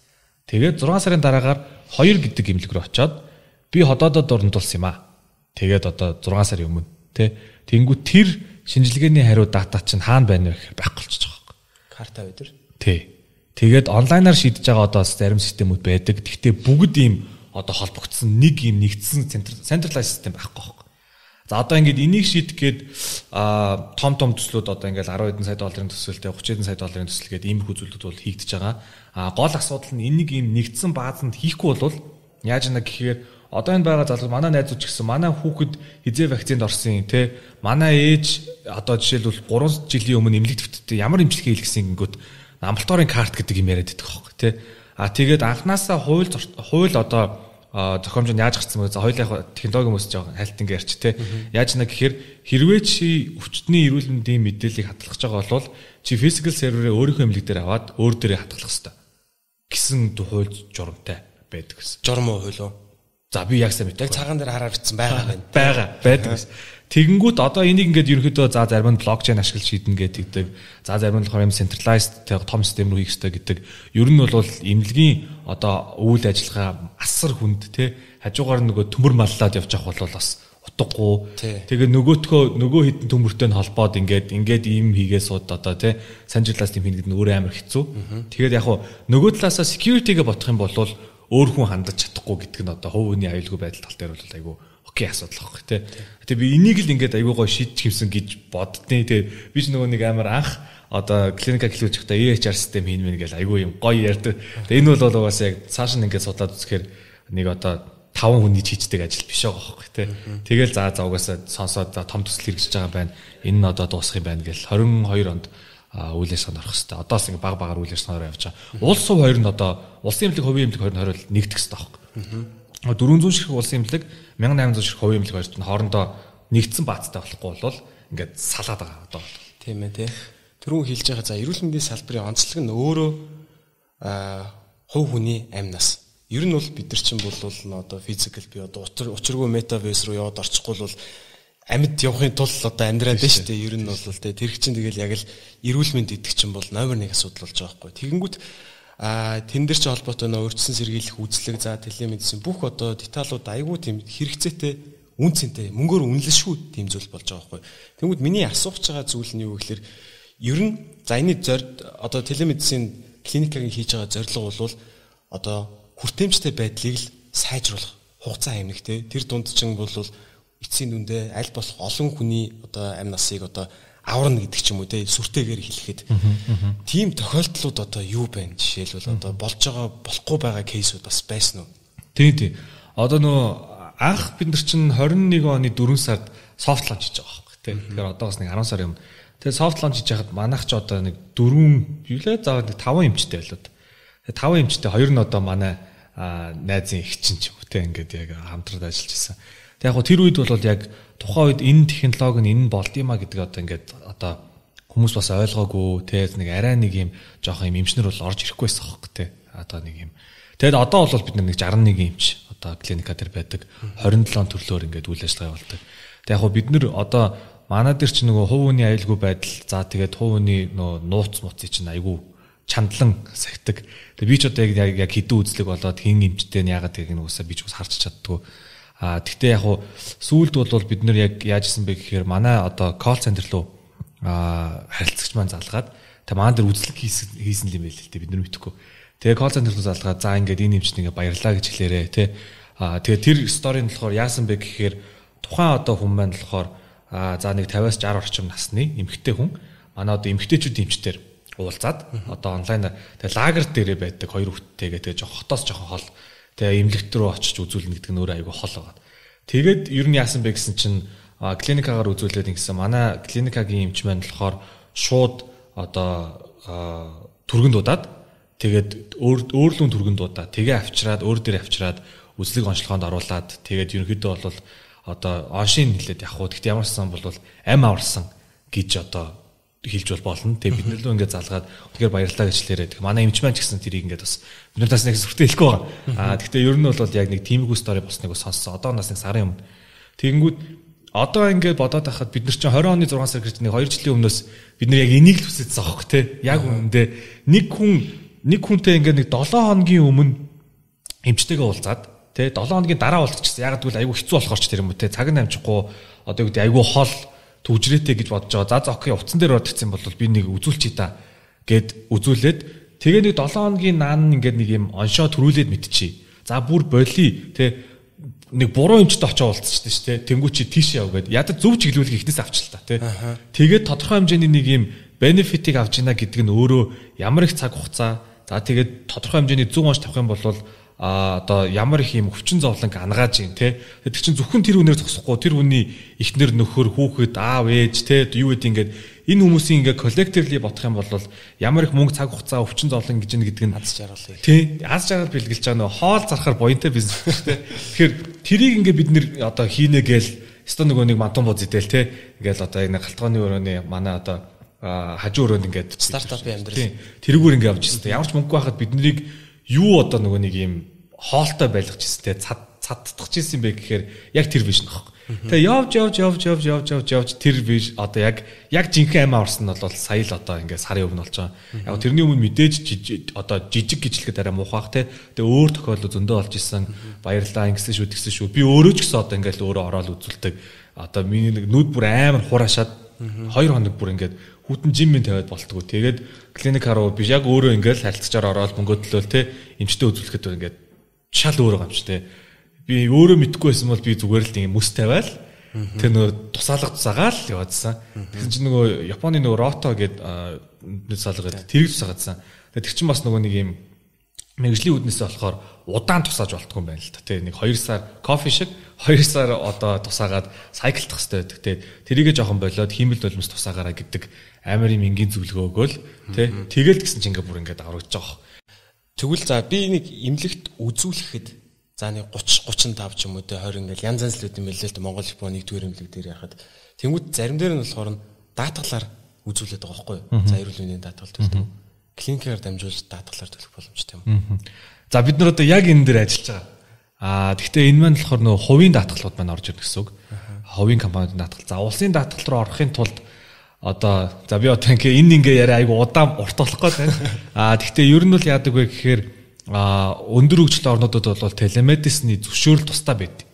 Тэгээд 6 сарын дараагаар 2 гэдэг имлэг рүү очиод би ходоодод оронд болсон юм аа. Тэгээд одоо 6 сарын өмнө тэ? Тэнгүү тэр шинжилгээний хариу дата чинь хаана байна вэ гэхээр байхгүй болчихж байгаа. Карта өдөр. Тий. Тэгээд онлайнаар шийдэж байгаа одоо зарим системүүд байдаг. Гэхдээ бүгд ийм одоо холбогдсон нэг ийм нэгдсэн centralized систем байхгүй байхгүй. За одоо ингээд энийг шийдэх гээд том төслүүд одоо ингээд 10 хэдэн сая долларын төсөлтэй 30 хэдэн сая долларын төсөл гээд иймэрхүү зүйлүүд бол хийгдэж байгаа. Гол асуудал нь энийг ийм нэгдсэн баазанд хийхгүй бол яаж яана гэхээр одоо энэ байгаа залуу манай найзууд ч гэсэн манай хүүхэд хизээ вакцинд орсон юм те манай ээж одоо жишээлбэл 3 жилийн өмнө эмнэлэг төвтөд ямар эмчилгээ хийлгэсэн гингүүд амбулаторийн карт гэдэг юм яриад байдаг байхгүй те тэгээд анханасаа хууль одоо зохиомж нь яаж гарсан бэ за хоёулаа технологи хүмүүс жоо хайлт ингэ ярьч те яаж нэ гэхээр хэрвээ чи өвчтний эрүүл мэндийн мэдээллийг хадгалах байгаа бол чи physical server-ээ өөрийнхөө эмнэлэг дээр аваад өөр дээрээ хадгалах хэрэгтэй гэсэн хууль журамтай байдаг гэсэн журам уу хууль уу. За би яг сайн мэдээ. Яг цагаан дээр хараар бичсэн байгаа юм байна. Байдаг. Тэгэнгүүт одоо энийг ингээд ерөнхийдөө за зарим нь блокчейн ашиглаж шийднэ гэдэг. За зарим нь болохоор centralized том систем рүү хийх хэрэгтэй гэдэг. Ер нь бол эмнэлгийн одоо үйл ажиллагаа асар хүнд те хажуугаар нөгөө төмөр маллаад явж явах бол бас утгагүй. Тэгээ нөгөө хитэн төмөртэй нь холбоод ингээд ийм хийгээ сууд одоо те centralized юм хийгээд өөрөө амар хэцүү. Тэгээд яг нөгөө талаасаа security-гээ бодох юм бол өөр хүн хандаж чадахгүй гэдэг нь одоо хувь хүний аюулгүй байдал тал дээр бол айгүй окей асуудал واخ тий. Тэгээ би энийг л ингээд айгүй гоо шийдэж хэмсэн гэж боддیں۔ Тэгээ би ч нөгөө нэг амар анх одоо клиника хэлүүлж байхдаа EHR систем хийн мэн гэж айгүй юм гоё ярьдаг. Тэгээ энэ бол угаасаа яг цааш нь ингээд судлаад үзэхээр нэг одоо 5 хүний хийждэг ажил биш байгаа واخ тий. Тэгэл за угаасаа сонсоод том төсөл хэрэгжиж байгаа байна. Энэ нь одоо дуусах юм байна гэл 22 онд үйл ажиллагаанд орох хэрэгтэй. Одоос ингэ баг үйл ажиллагаанаар явж байгаа. Улс хувь хоёр нь одоо улсын эмнэлэг, хувийн эмнэлэг хоёр нь хориод нэгдэх хэрэгтэй байхгүй. 400 ширхэг улсын эмнэлэг, 1800 ширхэг хувийн эмнэлэг хоёрт нь хоорондоо нэгдсэн баазтай болохгүй бол ингээд салаад байгаа одоо. Тийм ээ тий. Түрүүн хэлж байгаа за эрүүл мэндийн салбарын онцлог нь өөрөө хувь хүний амь нас. Ер нь бол бид нар чинь бол одоо физикал би одоо учиргүй метаверс руу яваад орчихгүй бол амьд явахын тулд одоо амьдраад байна шүү дээ. Ер нь бол тэр их чинь тэгэл яг л эрүүл мэнд гэдэг чинь бол номер 1 асуудал болж байгаа байхгүй. Тэгэнгүүт тэн дээр ч холбоотой нөө урьдчилан сэргийлэх үзлэг за телемедицин бүх одоо деталууд айгүй тийм хэрэгцээтэй үнцэнтэй мөнгөөр үнэлэн шүү тийм зүйл болж байгаа байхгүй. Тэгэнгүүт миний асууж байгаа зүйл нь юу гэхээр ер нь за энэ одоо телемедицин клиникийн хийж байгаа зорилго бол одоо хүртээмжтэй байдлыг л сайжруулах хугацаа хэмнэх тэр дунд чинь бол эцсийн дүндээ аль болох олон хүний одоо амь насыг одоо аварна гэдэг ч юм уу сүртэйгээр хэлэхэд тийм тохиолдлууд одоо юу байна жишээлбэл одоо болж байгаа болохгүй байгаа кейсүүд бас байсан уу? Тийм. Одоо анх бид нар чинь 21 оны 4 сард софт лонч хийж байгаа байхгүй тийм. Тэгэхээр одоо бас нэг 10 сарын өмнө. Тэгээ софт лонч хийж хахад манайх ч одоо нэг 4 юулээ заавал нэг 5 эмчтэй байлоо. 5 эмчтэй 2 нь одоо манай найзын их чинь ч юм уу тийм ингээд яг хамтраад ажиллаж байсан. Тэгээ яг тэр үед бол яг тухайн үед энэ технологи нь энэ болд юма гэдэг одоо ингээд одоо хүмүүс бас ойлгоогүй тийм нэг арай нэг юм жоох юм эмчнэр бол орж ирэхгүй байсан хөөхгүй тийм. Одоо нэг юм. Тэгээд одоо бол бид нэг 61 эмч одоо клиника дээр байдаг 27 төрлөөр ингээд үйл ажиллагаа явуулдаг. Тэгээ яг бид нар одоо манай дээр ч нөгөө хувь хүний аюулгүй байдал за тэгээд хувь хүний нууц мууцыг чинь айгүй чандлан сахидаг. Тэгээ би ч одоо яг хэдэн үзлэг болоод хин эмчтэй нь яагаад гэдэг нь уусаа би ч бас харж чаддгүй. Тэгтээ яг сүүлд бол бид нар яг яаж исэн бэ гэхээр манай одоо колл центр руу харилцагч маань залгаад тэгээ манай дээр үзлэг хийсэн юм байл л дээ бид нар мэдхгүй. Тэгээ колл центр руу залгаад за ингээд энэ эмчт ингээд баярлаа гэж хэлээрээ тий. Тэгээ тэр сторийн болохоор яасан бэ гэхээр тухайн одоо хүн маань болохоор за нэг 50-аас 60 орчим насны эмэгтэй хүн манай одоо эмэгтэйчүүд эмчтэр уулзаад одоо онлайнаар тэгээ лагер дээрээ байдаг 2 хүүхэдтэйгээ тэгээ хотоос жоохон хол тэгээ эмнэлэгт рүү очиж үзүүлнэ гэдэг нь өөрөө айгүй хол байгаа. Тэгээд ер нь яасан бэ гэсэн чинь клиникагаар үзүүлээд ингэсэн манай клиникагийн эмч маань болохоор шууд одоо түргэн дуудаад тэгээд өөрлөн түргэн дуудаад тэгээ авчираад өөр дээр авчираад үзлэг онцлогоонд оруулаад тэгээд ерөнхийдөө бол одоо оншин хэлээд явах уу. Гэхдээ ямар ч сан бол ам аварсан гэж одоо хэлж болно. Тэгээ бид нөлөө ингээд залгаад тэгэхээр баярлалаа гэж хэлээрээ. Тэгээ манай эмч маань ч гэсэн тэрийг ингээд бас бид нар бас нэг сүртэй хэлэхгүй байгаа. Гэхдээ ер нь бол яг нэг тиймэрхүү стори босныг сонссон. Одоо нас нэг сарын өмнө. Тэгэнгүүт одоо ингээд бодоод байхад бид нар чинь 20 оны 6 сар гэж нэг 2 жилийн өмнөөс бид нар яг энийг л хүсэж байгаа хөх те. Яг үүндээ нэг хүнтэй ингээд нэг 7 хоногийн өмнө эмчтэйгээ уулзаад те 7 хоногийн дараа уулзчихсан. Яг гэвэл айгүй хэцүү болохоор ч тэр юм уу те. Цаг нь амжихгүй одоо юу гэдэг айгүй хол төвжрээтэй гэж бодож байгаа. За окей утсан дээр орчихсан бол би нэг үзүүлчихье та гэд үзүүлээд тэгээ нэг 7 хоногийн наан ингээд нэг юм оншоо төрүүлээд мэдчихье. За бүр боли те нэг буруу эмчтэй очиж уулзчихсан шүү дээ. Тэнгүү чи тийш яв гэд ядаж зөв чиглүүлэх ихнээс авч л та те. Тэгээд тодорхой хэмжээний нэг юм бенефитийг авч ийна гэдэг нь өөрөө ямар их цаг хугацаа за тэгээд тодорхой хэмжээний зөв онш тавих юм бол одоо ямар их юм өвчин зовлонг ангааж юм те. Тэр чинь зөвхөн тэр үнээр зогсохгүй тэр хүний эхнэр нөхөр хүүхэд аав ээж те юу гэдэг ингээд энэ хүмүүсийн ингээд коллективли бодох юм бол ямар их мөнгө цаг хугацаа өвчин зовлон гэж нэг аз жаргал тий аз жаргал бэлгэлж байгаа нөө хоол зархаар буянтай бизнес те. Тэгэхээр тэрийг ингээд бид нэр одоо хийнэ гээл өстө нөгөө нэг мантун бууз идэл те. Ингээл одоо энэ галтгооны өрөөний манай одоо хажуу өрөөнд ингээд стартапын амьдрал тэрүүгээр ингээд авч ирсэн. Ямар ч мөнгө байхад бид нарыг юу одоо нөгөө нэг юм хоолтой байлгаж ирсэн те цадтах гэсэн бэ гэхээр яг тэр биш нөх. Тэгээ явж тэр биш одоо яг жинхэнэ амиа орсон нь бол сая л одоо ингээд сарын өмнө болж байгаа. Яг тэрний өмнө мэдээж одоо жижиг гिचлэхэд арай муухайх те. Тэгээ өөр тохиолдол зөндөө болж исэн. Баярлалаа ингэсэн шүү. Би өөрөө ч гэсэн одоо ингээд өөрөө ороод үзүүлдэг. Одоо миний нэг нүд бүр амар хураашаад 2 хоног бүр ингээд хүүтэн жиммен тавиад болтгоо. Тэгээд клиникаар руу би яг өөрөө ингээд харилцагчаар ороод мөнгө төлөөл те. Эмчтэй үзүүлэхэд ингээд шал өөрөө гамч те. Би өөрөө мэдгүй байсан бол би зүгээр л ингэ мөс тавиал тэр нөгөө тусаагаал яваадсан. Тэгсэн чинь нөгөө Японы нөгөө рото гэдэг салгаад тэрийг тусаагаадсан. Тэр чинь бас нөгөө нэг юм мэрэгжлийн үднээсээ болохоор удаан тусааж болтгүй юм байна л та. Тэ нэг 2 сар кофе шиг 2 сар одоо тусаагаад сайклдах хэрэгтэй байдаг. Тэ тэрийгэ жоохон болоод хиймэл болмос тусаагаараа гэдэг амар юм энгийн зөвлөгөө өгөөл. Тэ тэгэл гэсэн чинь ингээ бүр ингээ даврагдаж байгаа. Тэгвэл за би нэг имлэгт үзүүлэхэд за нэг 30-35 ч юм уу те 20 ингээл янз янз л үт юм байлээ л Монгол Японы 1-р имлэг дээр яхад тэнгууд зарим дээр нь болохоор датаглаар үзүүлээд байгаа байхгүй юу. За эрүүл мэндийн датагл төлдөг. клиникээр дамжуулж даатгалаар төлөх боломжтой юм. За бид нар одоо яг энэ дээр ажиллаж байгаа. Гэхдээ энэ маань болохоор нөгөө хувийн даатгалууд маань орж ирнэ гэсэн үг. Хувийн компаниудын даатгал. За улсын даатгал руу орохын тулд одоо за би одоо ингээ яриа айгу удаан урт болох гээд байна. Гэхдээ ер нь бол яадаг вэ гэхээр өндөр хөгжлийн орнуудад бол телемедицины зөвшөөрөл тусдаа байдаг.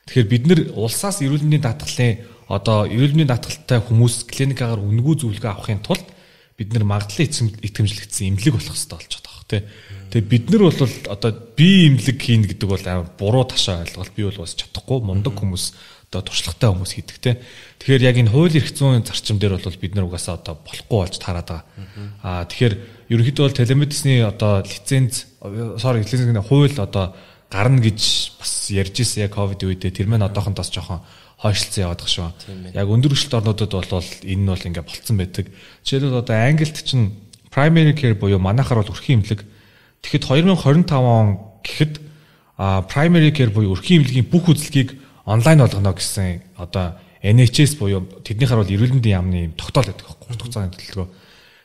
Тэгэхээр бид нар улсаас эрүүл мэндийн даатгалын одоо эрүүл мэндийн даатгалтай хүмүүс клиникаагаар үнэгүй зөвлөгөө авахын тулд бид нар магадлан итгэмжлэгдсэн эмнэлэг болох хэрэгтэй болж байгаа тий. Тэгээ бид нар бол одоо би эмнэлэг хийн гэдэг бол амар буруу ташаа ойлголт би бол бас чадахгүй мундаг хүмүүс одоо туршлагатай хүмүүс хийдэг тий. Тэгэхээр яг энэ хууль эрх зүйн зарчим дээр бол бид нар угаасаа одоо болохгүй болж таарад байгаа. Тэгэхээр ерөнхийдөө бол телемедицины одоо лиценз лицензийн хууль одоо гарна гэж бас ярьж ирсэн яг ковид үедээ тэр маань одоохондоос жоохон хойшлцсан яваад байгаа шүү. Яг өндөр хөгжилт орнуудад бол энэ нь бол ингээ болцсон байдаг. Жишээлбэл одоо Англид чинь primary care буюу манайхаар бол өрхийн эмнэлэг. Тэгэхэд 2025 он гэхэд primary care буюу өрхийн эмнэлгийн бүх үзлэгийг онлайн болгоно гэсэн одоо NHS буюу тэднийхэр бол эрүүл мэндийн яамны тогтоол байдаг байхгүй 30 цагийн төлөвлөгөө.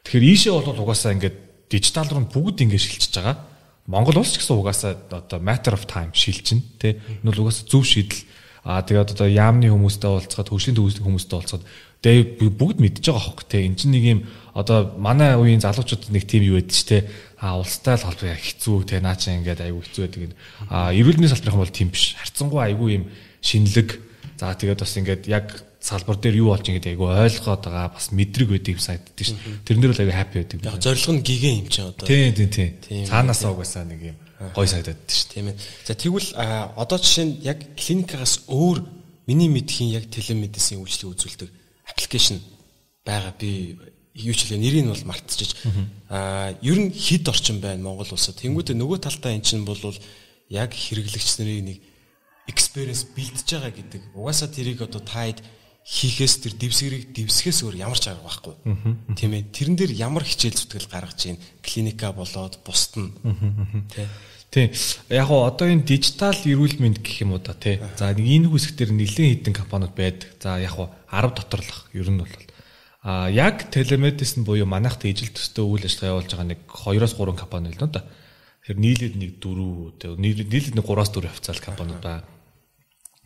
Тэгэхээр ийшээ бол угаасаа ингээ дижитал руу бүгд ингээ шилжиж байгаа. Монгол улс ч гэсэн угаасаа одоо matter of time шилжин тий. Энэ бол угаасаа зөв шийдэл. Тэгээд одоо яамны хүмүүстэй уулзгаад хөгжлийн төвөслийн хүмүүстэй уулзгаад тэгээ бүгд мэдж байгаа хөх те эн чинь нэг юм одоо манай үеийн залуучууд нэг тим юу байдаг ч те улстай л холбоо хэцүү те наа чи ингээд айгүй хэцүү байдаг. Эрүүл мэндийн салбарын бол тийм биш. Харцангуй айгүй юм шинэлэг. За тэгээд бас ингээд яг салбар дээр юу болж ингээд айгүй ойлгоод байгаа бас мэдрэг байдаг юм санагддаг ш. Тэрнэр бол айгүй happy байдаг. Яг зорилго нь гигэн юм чи одоо. Тийм. Цаанаасаа угаасаа нэг юм гой санагдаад шүү. Тийм ээ. За тэгвэл одоо жишээ нь яг клиникаас өөр миний мэдхийн яг телемедицины үйлчлэг үзүүлдэг аппликейшн байгаа. Би юу ч хэлээ нэрийг нь бол мартчихж. Ер нь хэд орчин байна Монгол улсад. Тэнгүүтээ нөгөө талдаа эн чинь бол яг хэрэглэгч нарын нэг experience бэлдэж байгаа гэдэг. Угаасаа тэрийг одоо таад хийхээс тэр дэвсгэрийг дэвсгээс өөр ямар ч арга байхгүй. Тийм ээ. Тэрэн дээр ямар хичээл зүтгэл гаргаж ийн клиника болоод бусд нь. Тийм. Яг гоо одоо энэ дижитал эрүүл мэнд гэх юм уу да тий. За нэг энэ хэсэг дээр нэлээд хэдэн компаниуд байдаг. За яг гоо 10 доторлох ер нь бол яг телемедицин буюу манайхтай ижил төстэй үйл ажиллагаа явуулж байгаа нэг 2-3 компани л да. Тэр нийлээд нэг 4 нийлээд нэг 3-4 официал компаниуд байна.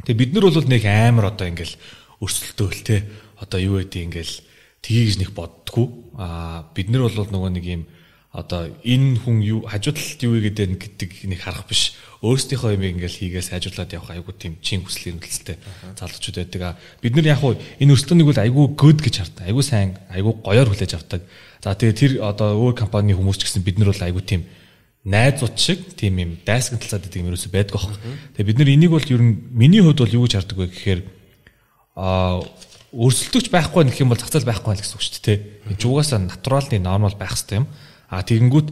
Тэгээ бид нар бол нэг амар одоо ингээл өрсөлдөөл те одоо юу гэдэг ингээл тгийгж нэг боддгоо бид нар бол нөгөө нэг юм одоо энэ хүн юу хажуудлалт юу гэдэг нэг харах биш өөрсдийнхөө юм ингээл хийгээс хажуулаад явах айгуу тийм чин хүслийн төлөлтэй залуучууд байдаг. Бид нар яг энэ өрсөлдөөнийг бол айгуу good гэж хардаг. Айгуу сайн айгуу гоёор хүлээж авдаг. За тэгээ тэр одоо өөр компани хүмүүс ч гэсэн бид нар бол айгуу тийм найзууд шиг тийм юм дайсган талцаад байдаг юм ерөөсөй байдаг аах. Тэгээ бид нар энийг бол ер нь миний хувьд бол юу гэж хардаг вэ гэхээр өрсөлдөгч байхгүй гэх юм бол зах зээл байхгүй л гэсэн үг шүү дээ. Энд угаасаа натуралны нормал байх хэрэгтэй юм. Тэгэнгүүт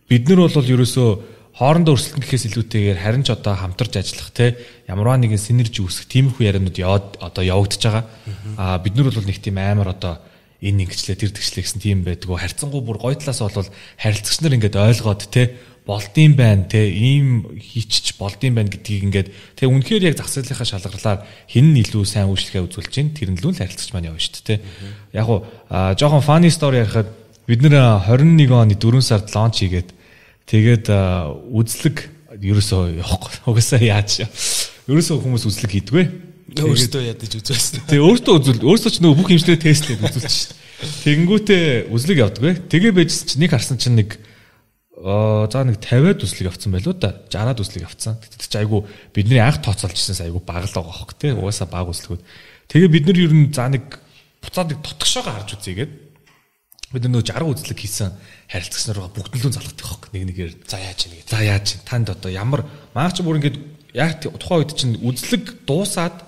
бид нар бол ерөөсөө хоорондоо өрсөлдөн гэхээс илүүтэйгээр харин ч одоо хамтарч ажиллах те ямарваа нэгэн синержи үүсгэх тиймэрхүү яриануд явагдаж байгаа. Бид нар бол нэг тийм амар одоо энэ ингэчлээ тэр тэгчлээ гэсэн тийм байдгүй. Харьцангуй бүр гоё талаас бол харилцагч нар ингээд ойлгоод те болдсон байна те ийм хийчих болдсон байна гэдгийг ингээд те үнэхээр яг зах зээлийнхаа шалгарлаар хэн нь илүү сайн үйлчлэгээ үзүүлж чинь тэр нь л харилцагч маань явна шүү дээ те. Яг уу жоохон funny story ярихад бид нэр 21 оны 4 сард лонч хийгээд тэгээд үзлэг ерөөсөө явахгүй. Угаасаа яаж ерөөсөө хүмүүс үзлэг хийдгвэ. Өөртөө ядаж үзүүлсэн. Тэгээ өөртөө ч нөгөө бүх хэмжлэгээ тестлээд үзүүлчих. Тэгэнгүүтээ үзлэг явдагвэ. Тэгээ байжсэн чинь нэг харсан чинь нэг за нэг 50-аад үзлэг авцсан байлоо да. 60-аад үзлэг авцсан. Тэгтээ чи айгу бидний анх тооцоолжсэнс айгу бага л байгаа хөх те. Угаасаа бага үзлэгүүд. Тэгээ бид нар ер нь за нэг буцаад нэг тотгошоогоо харж үзьегээд бид нөгөө 60 үзлэг хийсэн харилцагч нараа бүгдлүүн залгадаг хөх нэг нэгээр за яаж ийн гэдэг. За яаж ийн танд одоо ямар маач бүр ингээд яг тухайн үед чинь үзлэг дуусаад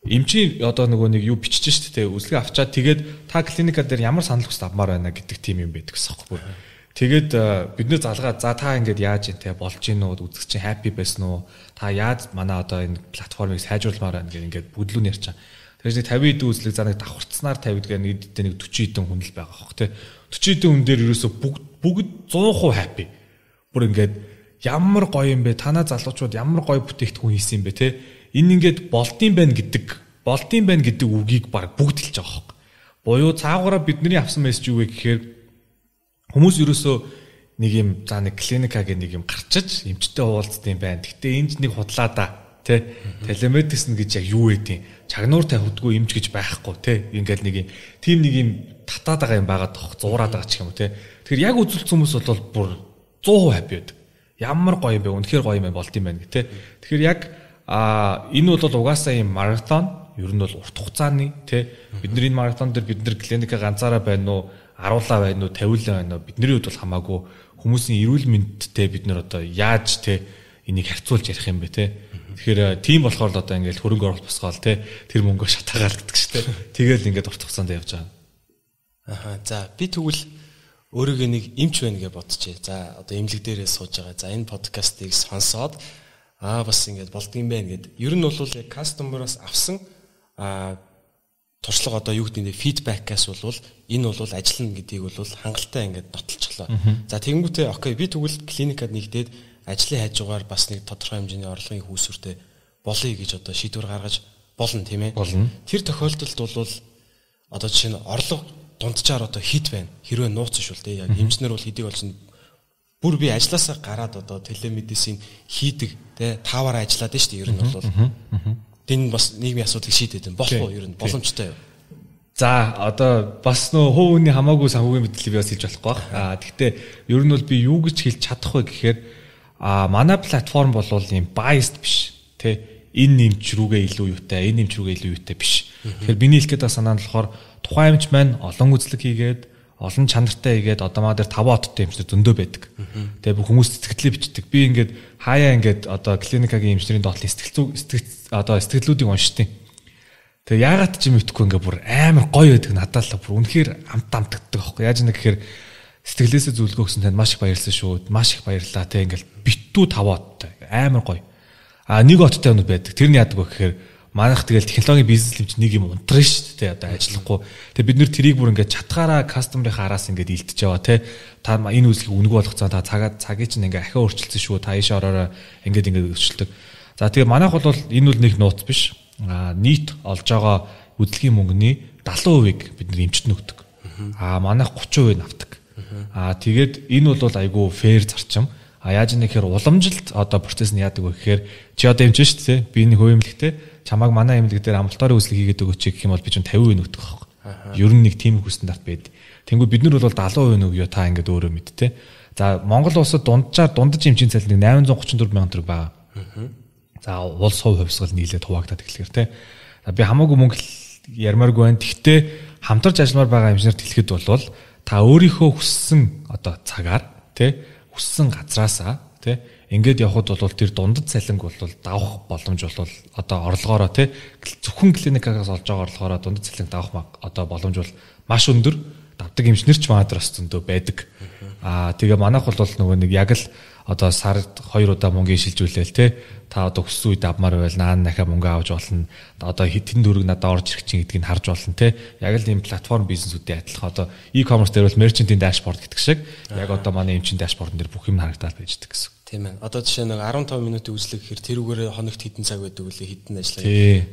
эмчийн одоо нөгөө нэг юу бичиж штэ те үзлэг авчаад тэгээд та клиника дээр ямар санал хүсэл авмаар байна гэдэг тийм юм байдаг гэсэн юм байна. Тэгээд бид нэр залгаа за та ингээд яаж ийн те болж гин үү үзэг чинь happy байсан уу та яаж манай одоо энэ платформыг сайжруулмаар байна гэх ингээд бүдлүүн ярьчаа. Тэгэхээр 50 хэдэн үзлэг за нэг давхарцнаар 50 гэдэг нэг 40 хэдэн хүн л байгаа хөх те 40 хэдэн хүн дээр ерөөсө бүгд 100% happy. Бүр ингээд ямар гоё юм бэ танаа залуучууд ямар гоё бүтээгдэхүүн хийсэн юм бэ те энэ ингээд болдсон байна гэдэг үгийг баг бүгд хэлж байгаа хөх. Буюу цаагаараа бидний авсан мессеж юу вэ гэхээр Хүмүүс ерөөсөө нэг юм за нэг клиникагийн нэг юм гарчиж эмчтэй уулздаг юм байна. Гэтэ энд нэг худлаа да. Тэ телемедицин гэж яг юу вэ? Чагнуур тавьдгүй эмч гэж байхгүй тэ. Ингээл нэг юм тим нэг юм татаад байгаа юм байгаад тох зуураад байгаа ч юм уу тэ. Тэгэхээр яг үзүүлсэн хүмүүс бол бүр 100% happy байдаг. Ямар гоё юм бэ? Үнэхээр гоё юм болд юм байна тэ. Тэгэхээр яг энэ бол угаасаа юм маратон ер нь бол урт хугацааны тэ бидний энэ маратон дээр бид нэр клиника ганцаараа байна уу, аруулаа байна уу, тавиулаа байна уу бидний хувьд бол хамаагүй хүмүүсийн эрүүл мэндтэй бид нэр одоо яаж тэ энийг харьцуулж ярих юм бэ тэ. Тэгэхээр тийм болохоор л одоо ингээл хөрөнгө оруулалт босгоол те тэр мөнгөө шатаагаал гэдэг ч те. Тэгэл ингээд урт хугацаанд явж байгаа. Аха. За би тэгвэл өөрийгөө нэг эмч байна гэж бодчихъя. За одоо эмнэлэг дээрээ сууж байгаа. За энэ подкастыг сонсоод бас ингээд болдгийм байх гэд. Ер нь бол яг кастомероос авсан туршлага одоо юу гэдэг нь фидбэкээс бол энэ бол ажиллана гэдгийг бол хангалттай ингээд нотолчихлоо. За тэгэнгүүтээ окей би тэгвэл клиникад нэгдээд ажлын хажуугаар бас нэг тодорхой хэмжээний орлогын хүүсвэртэй болъё гэж одоо шийдвэр гаргаж болно тийм ээ. Болно. Тэр тохиолдолд бол одоо жишээ нь орлого дунджаар одоо хит байна. Хэрвээ нууц шүү л дээ. Яг эмчнэр бол хэдийг болж бүр би ажилласаа гараад одоо телемедицин хийдэг те тааваараа ажиллаад байна шүү дээ. Ер нь бол энэ бас нийгмийн асуудлыг шийдээд байна. Болох уу ер нь боломжтой юу? За одоо бас нөө хувь хүний хамаагүй санхүүгийн мэдлэг би бас хэлж болохгүй баг. Гэхдээ ер нь бол би юу гэж хэлж чадах вэ гэхээр манай платформ бол юм biased биш тий энэ нэмч рүүгээ илүү юутай энэ нэмч рүүгээ илүү юутай биш. Тэгэхээр биний хэлэх гэдэг санаа нь болохоор тухайн эмч маань олон үзлэг хийгээд олон чанартай хийгээд одоо маа дээр 5 оттой эмчнэр зөндөө байдаг. Тэгээ бүх хүмүүс сэтгэлээ бичдэг. Би ингээд хаяа ингээд одоо клиникагийн эмчнэрийн доотлын сэтгэлдлүүдийг уншдیں۔ Тэгээ яагаад ч юм итгэхгүй ингээд бүр амар гоё байдаг надад л бүр үнэхээр амтагддаг аахгүй. Яаж нэг гэхээр сэтгэлээсээ зөвлөгөө өгсөн танд маш их баярлалаа шүү. Маш их баярлалаа те ингээл битүү 5 оттой амар гоё. Нэг оттой юмуд байдаг. Тэр нь яадаг вэ гэхээр манайх тэгэл технологийн бизнес лимч нэг юм унтраа шүү дээ одоо ажиллахгүй. Тэгээ бид нэр тэрийг бүр ингээд чатгаараа кастомерын араас ингээд илтэж яваа те. Та энэ үйлчлэгийг үнэгүй болгоцоо та цагийг чинь ингээд ахиа өөрчилсөн шүү. Та ийш ороороо ингээд өөрчилдөг. За тэгээ манайх бол энэ үл нэг нууц биш. Нийт олж байгаа үдлэгийн мөнгөний 70%-ийг бид нэр эмчтэн өгдөг. Манайх 30% авдаг. Тэгээд энэ бол айгүй фэр зарчим. Яаж нэхэр уламжилт одоо процесс нь яадаг вэ гэхээр чи одоо эмч шүү дээ. Би энэ хувь эмнэлэгтэй чамайг манай эмнэлэг дээр амлалтаар үйлчлэг хийгээд өгөөч гэх юм бол би чинь 50% өгдөг байхгүй. Ер нь нэг тийм их стандарт байд. Тэнгүү бид нар бол 70% өгөө та ингээд өөрөө мэд те. За Монгол улсад дундаж эмчийн цалин 834 мянган төгрөг байгаа. За улс хувь хувьсгал нийлээд хуваагдаад эхлэхээр те. Би хамаагүй мөнгө ярмааргүй байна. Тэгтээ хамтарч ажилламаар байгаа эмчнэрт хэлэхэд бол та өөрийнхөө хүссэн одоо цагаар те хүссэн газраасаа те ингээд явхад бол тэр дундад цалинг бол давах боломж бол одоо орлогоороо те зөвхөн клиникагаас олж байгаа орлогоороо дундад цалинг давах одоо боломж бол маш өндөр. Давдаг эмчнэр ч манайд бас зөндөө байдаг. Тэгээ манайх бол нөгөө нэг яг л одоо сард 2 удаа мөнгө шилжүүлээл те та одоо хүссэн үед авмаар байвал наан дахиад мөнгө авч болно. Одоо хитэн дөрөг надад орж ирэх чинь гэдгийг харж болно те. Яг л ийм платформ бизнесүүдийн адилхан одоо e-commerce дээр бол merchant-ийн dashboard гэдэг шиг яг одоо манай эмчийн dashboard дээр бүх юм харагдаад байждаг гэсэн. Тийм ээ. Одоо жишээ нэг 15 минутын үзлэг гэхээр тэрүүгээр хоногт хэдэн цаг байдаг үлээ хэдэн ажиллаа.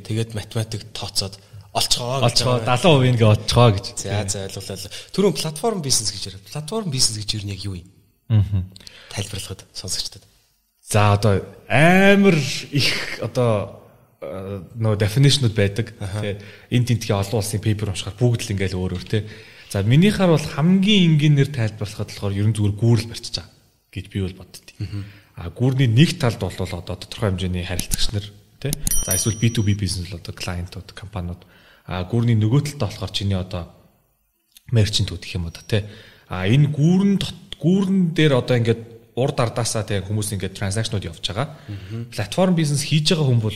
Тэгээд математик тооцоод олцгоо 70% ингээ олцгоо гэж. За ойлголоо. Түрүүн платформ бизнес гэж яриад. Платформ бизнес гэж юу нэг юу юм? Тайлбарлахад сонсогчдод. За одоо амар их одоо нөө definition-ууд байдаг. Тэгээ энэ тентгийн олон улсын paper уншихаар бүгд л ингээл өөр өөр те. За минийхаар бол хамгийн энгийнээр тайлбарлахад болохоор ерөн зүгээр гүүрэл барьчих чаа гэж би бол боддتي. Гүүрний нэг талд бол одоо тодорхой хэмжээний харилцагч нар те. За эсвэл B2B бизнес бол одоо клиентууд, компаниуд. Гүүрний нөгөө талд болохоор чиний одоо мерчентүүд гэх юм уу те. Энэ гүүрэн дээр одоо ингээд урд ардаасаа тэг хүмүүс ингээд транзакшнууд явж байгаа. Платформ бизнес хийж байгаа хүн бол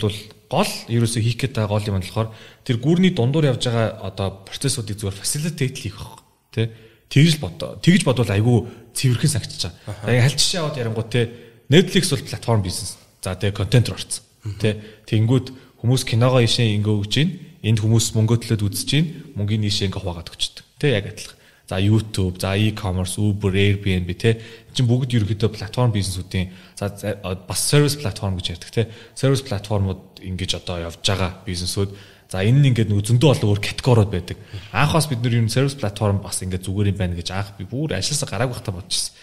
гол ерөөсөө хийх гээд байгаа гол юм болохоор тэр гүүрний дундуур явж байгаа одоо процессуудыг зүгээр facilitate хийх баг. Тэ тэгж бодвол айгүй цэвэрхэн санагдчихж байгаа. Яг хальт жишээ аваад ярингууд те Netflix бол платформ бизнес. За тэг контент орсон. Тэ тэнгүүд хүмүүс киногоо ишээ ингээ өгж гин энд хүмүүс мөнгө төлөөд үзэж гин мөнгөний ишээ ингээ хуваагаад өгчдөг. Тэ яг адилхан. За YouTube, за e-commerce, Uber, Airbnb те чинь бүгд ерөнхийдөө платформ бизнесүүдийн за бас сервис платформ гэж ярьдаг те. Сервис платформуд ингэж одоо явж байгаа бизнесүүд За энэ нь ингээд нөгөө зөндөө олон өөр категориуд байдаг. Анхаас бид нэр юм сервис платформ бас ингээд зүгээр юм байна гэж анх би бүр ажилласаа гараагүй хата бодчихсон.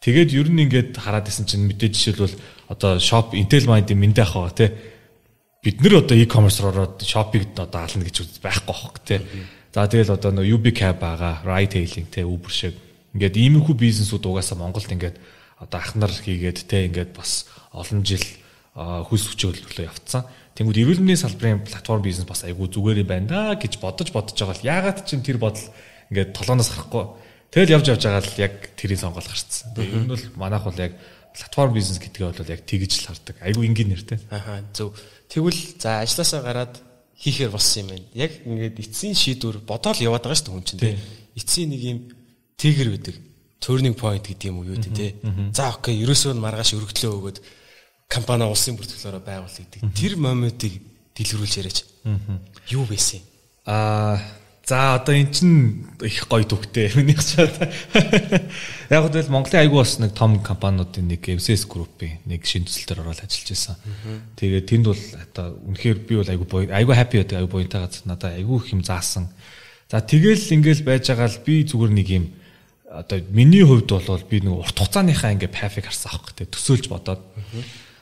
Тэгээд ер нь ингээд хараад исэн чинь мэдээж жишээлбэл одоо shop Intel Mind-ийн мэндэ ахаа тий. Бид нэр одоо e-commerce ороод shop-ыг одоо ална гэж байхгүй байхгүй тий. За тэгэл одоо нөгөө UB Cab байгаа, ride hailing тий Uber шиг ингээд иймэрхүү бизнесүүд угаасаа Монголд ингээд одоо ахнар хийгээд тий ингээд бас олон жил хөлс хүчөөлөлөө явцсан. Тэнгүүд эрүүл мэндийн салбарын платформ бизнес бас айгүй зүгээр юм байна да гэж бодож байгаа л яагаад ч тэр бодол ингээд толгоноос гарахгүй. Тэгэл явж байгаа л яг тэрийн сонгол гарцсан. Тэгээ ер нь бол манайх бол яг платформ бизнес гэдгээ бол яг тэгж л хардаг. Айгүй энгийн нэртэй. Ахаа зөв. Тэгвэл за ажилласаа гараад хийхээр болсон юм байна. Яг ингээд эцсийн шийдвэр бодоол яваад байгаа шүү дээ хүн чинь тий. Эцсийн нэг юм триггер байдаг. Turning point гэдэг юм уу юу тий. За окей, ерөөсөө маргааш өргөдлөө өгөөд компани улсын бүртгэлээрээ байгуул гэдэг. Тэр моментыг дэлгэрүүлж яриач. Юу байсан? За одоо эн чин их гоё төгтэй миний хачаад. Яг л Монголын айгүй бас нэг том компаниудын нэг MCS группийн нэг шинэ төсөл төр ороод ажиллаж байсан. Тэгээд тэнд бол одоо үнэхээр би бол айгүй happy байдаг, айгүй буянтай газар надад айгүй их юм заасан. За тэгэл ингээл байж байгаа л би зүгээр нэг юм одоо миний хувьд бол би нэг урт хугацааныхаа ингээ path-ыг харсан аахгүй те төсөөлж бодоод.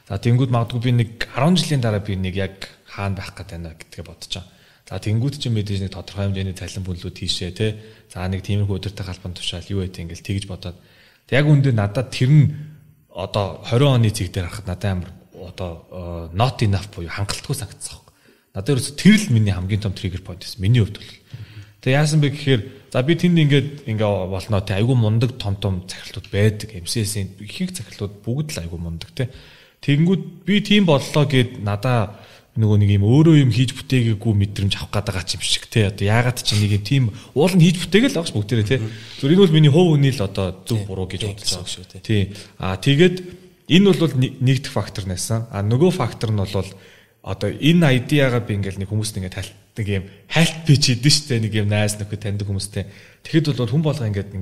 За тэнгууд магадгүй би нэг 10 жилийн дараа би нэг яг хаана байх гэдэг байна гэдгээ бодож байгаа. За тэнгууд чинь мэдээж нэг тодорхой хэмжээний цалин бүлүүд хийшээ те. За нэг тиймэрхүү өдөртэй халбан тушаал юу гэдэг ингээл тэгж бодоод. Тэг яг үндэ надад тэр нь одоо 20 оны цэг дээр харахад надад амар одоо not enough буюу хангалтгүй санагдсан юм. Надад ерөөс тэр л миний хамгийн том trigger point байсан. Миний хувьд бол. Тэг яасан бэ гэхээр за би тэнд ингээ болноо те айгүй мундаг том захирлууд байдаг. MCS-ийн ихэнх захирлууд бүгд л айгүй мундаг те. Тэгэнгүүт би тийм боллоо гэд надаа нөгөө нэг юм өөрөө юм хийж бүтээгээгүй мэдрэмж авах гээд байгаа юм шиг те. Одоо яагаад ч нэг юм тийм уул нь хийж бүтээгээл байгаа ш бүгдээрээ те. Зөв энэ бол миний хувь үний л одоо зөв буруу гэж бодож байгаа шүү те. Тий. Тэгээд энэ бол нэгдэх фактор байсан. Нөгөө фактор нь бол одоо энэ айдиагаа би ингээл нэг хүмүүст ингээд нэг юм хайлт пич хийдэж штэ нэг юм найс нөхөд таньдаг хүмүүстэй. Тэгэхэд бол хүн болго ингээд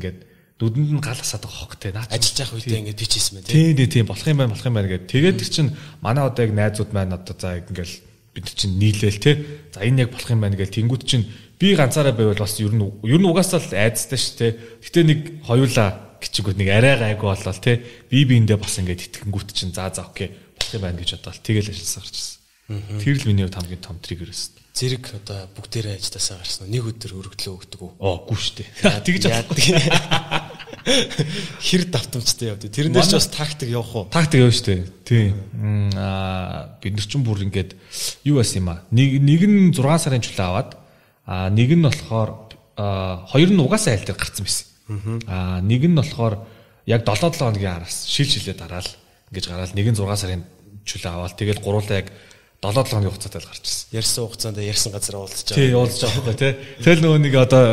дүдэнд нь гал асаад байгаа хог те. Наач ажиллаж явах үедээ ингээд пич хийсэн мэн тийм болох юм байна гэдэг. Тэгээд тэр чинь манай одоо яг найзууд маань одоо за ингээл бид чинь нийлээл те. За энэ яг болох юм байна гэж тэнгууд чинь би ганцаараа байвал бас ер нь угаасаа л айцтай ш те. Гэтэ нэг хоёулаа гिचгүүд нэг арай гайгүй болол те. Биэндээ бас ингээд итгэнгүүт чинь за окей болох юм байна гэж бодоод тэгэл ажилласаа гарч ирсэн. Тэр л миний хувьд хамгийн том триггер байсан. Зэрэг одоо бүгдээрээ ажилласаа гарсан. Нэг өдөр өргөдлөө өгдөг үү? Гүү штэ. Тэгж яадаг. Хэр давтамжтай явдаг. Тэрнээс ч бас тактик явах уу? Тактик явна штэ. Тийм. Бид нар ч бүр ингээд юу байсан юм аа. Нэг нь 6 сарын чулаа аваад нэг нь болохоор хоёр нь угаасаа айл дээр гарцсан байсан. Нэг нь болохоор яг 7-7 хоногийн араас шилжлээ дараал ингэж гараал нэг нь 6 сарын чулаа аваад тэгэл гуруулаа яг 7-7 хоногийн хугацаатай л гарч ирсэн. Ярьсан хугацаанд ярьсан газар уулзж байгаа. Тий, уулзж байгаа байхгүй тий. Тэгэл нөгөө нэг одоо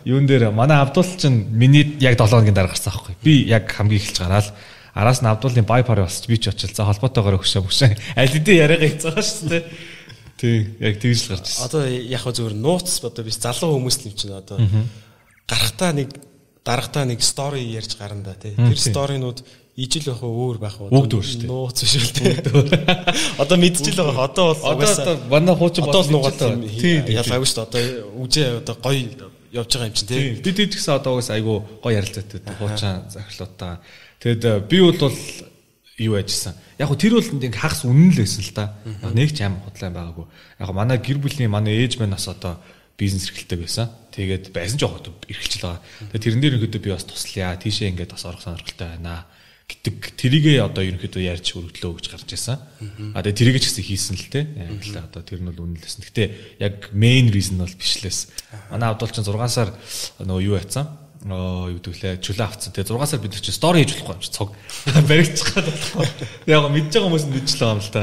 юун дээр манай Абдул чинь миний яг 7 хоногийн дараа гарсан байхгүй. Би яг хамгийн эхэлж гараал. Араас нь Абдулын байпар болсч би ч очил. За холбоотойгоор хөшөө. Аль хэдийн яриагаа хийцбайгаа шүү дээ. Тий, яг тэгж л гарч ирсэн. Одоо яг хөө зүгээр нууц одоо биш залуу хүмүүс юм чинь одоо гарахтаа нэг дарагтаа нэг стори ярьж гарна да тий. Тэр сторинууд ижил байх өөр байх уу? Бүгд өөр шүү дээ. Нууц биш үү тий. Одоо мэдчихэл байгаа. Одоо бол угаасаа манай хуучин бодол нуугаад ялгаагүй шүү дээ. Одоо үжээ одоо гоё явж байгаа юм чинь тий. Бид гэдгсэн одоо угаасаа айгу гоё ярилцаатай хуучин захирлуудаа. Тэгэд би бол юу ажилласан. Яг хөө тэр бол нэг хагас үнэн л байсан л да. Нэг ч аим худлаа байгаагүй. Яг манай гэр бүлийн манай ээж маань бас одоо бизнес эрхэлдэг байсан. Тэгээд байсан ч яг эрхэлж байгаа. Тэгээд тэрэн дээр ерөнхийдөө би бас туслая. Тийшээ ингээд бас орох сонирхолтой байна гэдэг тэрийгээ одоо ерөнхийдөө ярьж өргөдлөө гэж гарч ирсэн. Тэгээд тэрийгээ ч гэсэн хийсэн л те. Яг л одоо тэр нь бол үнэлсэн. Гэтэ яг main reason бол биш лээс. Манай Абдул ч 6 сар нөгөө юу яцсан. Юу гэдгэлээ чулаа авцсан. Тэгээд 6 сар бид нар чи стори хийж болохгүй юм чи цог баригдчих гээд болохгүй. Яг мэдж байгаа хүмүүс нь мэдчихлээ юм л та.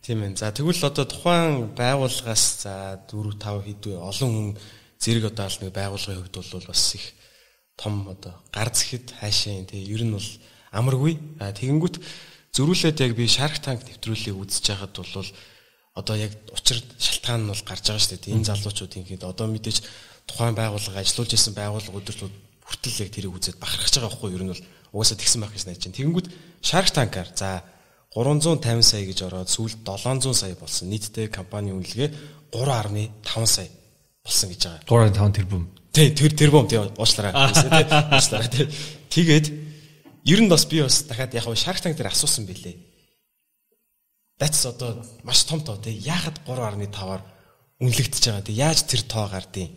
Тийм ээ. За тэгвэл одоо тухайн байгууллагаас за 4 5 хэдвэ олон хүн зэрэг одоо аль нэг байгууллагын хувьд бол бас их том одоо гар зэхэд хаашаа тий ер нь бол амаргүй. Тэгэнгүүт зөрүүлээд яг би Shark Tank нэвтрүүлгийг үзэж байхад бол одоо яг учир шалтгаан нь бол гарч байгаа шүү дээ. Энэ залуучууд ингээд одоо мэдээж тухайн байгууллага ажиллаж исэн байгууллага өдөртөө хүртэл яг тэрийг үзээд бахархаж байгаа байхгүй юу? Ер нь бол угаасаа тэгсэн байх гэж найж чинь. Тэгэнгүүт Shark Tank-аар за 350 сая гэж ороод сүүлд 700 сая болсон. Нийтдээ компани үнэлгээ 3.5 сая болсон гэж байгаа. 3.5 тэрбум. Тий, тэрбум тий уучлаарай. Уучлаарай тий. Тэгээд ер нь бас би бас дахиад яг Shark Tank дээр асуусан билээ. That's одоо маш том тоо тий. Яахад 3.5-аар үнэлэгдэж байгаа тий. Яаж тэр тоо гардыг?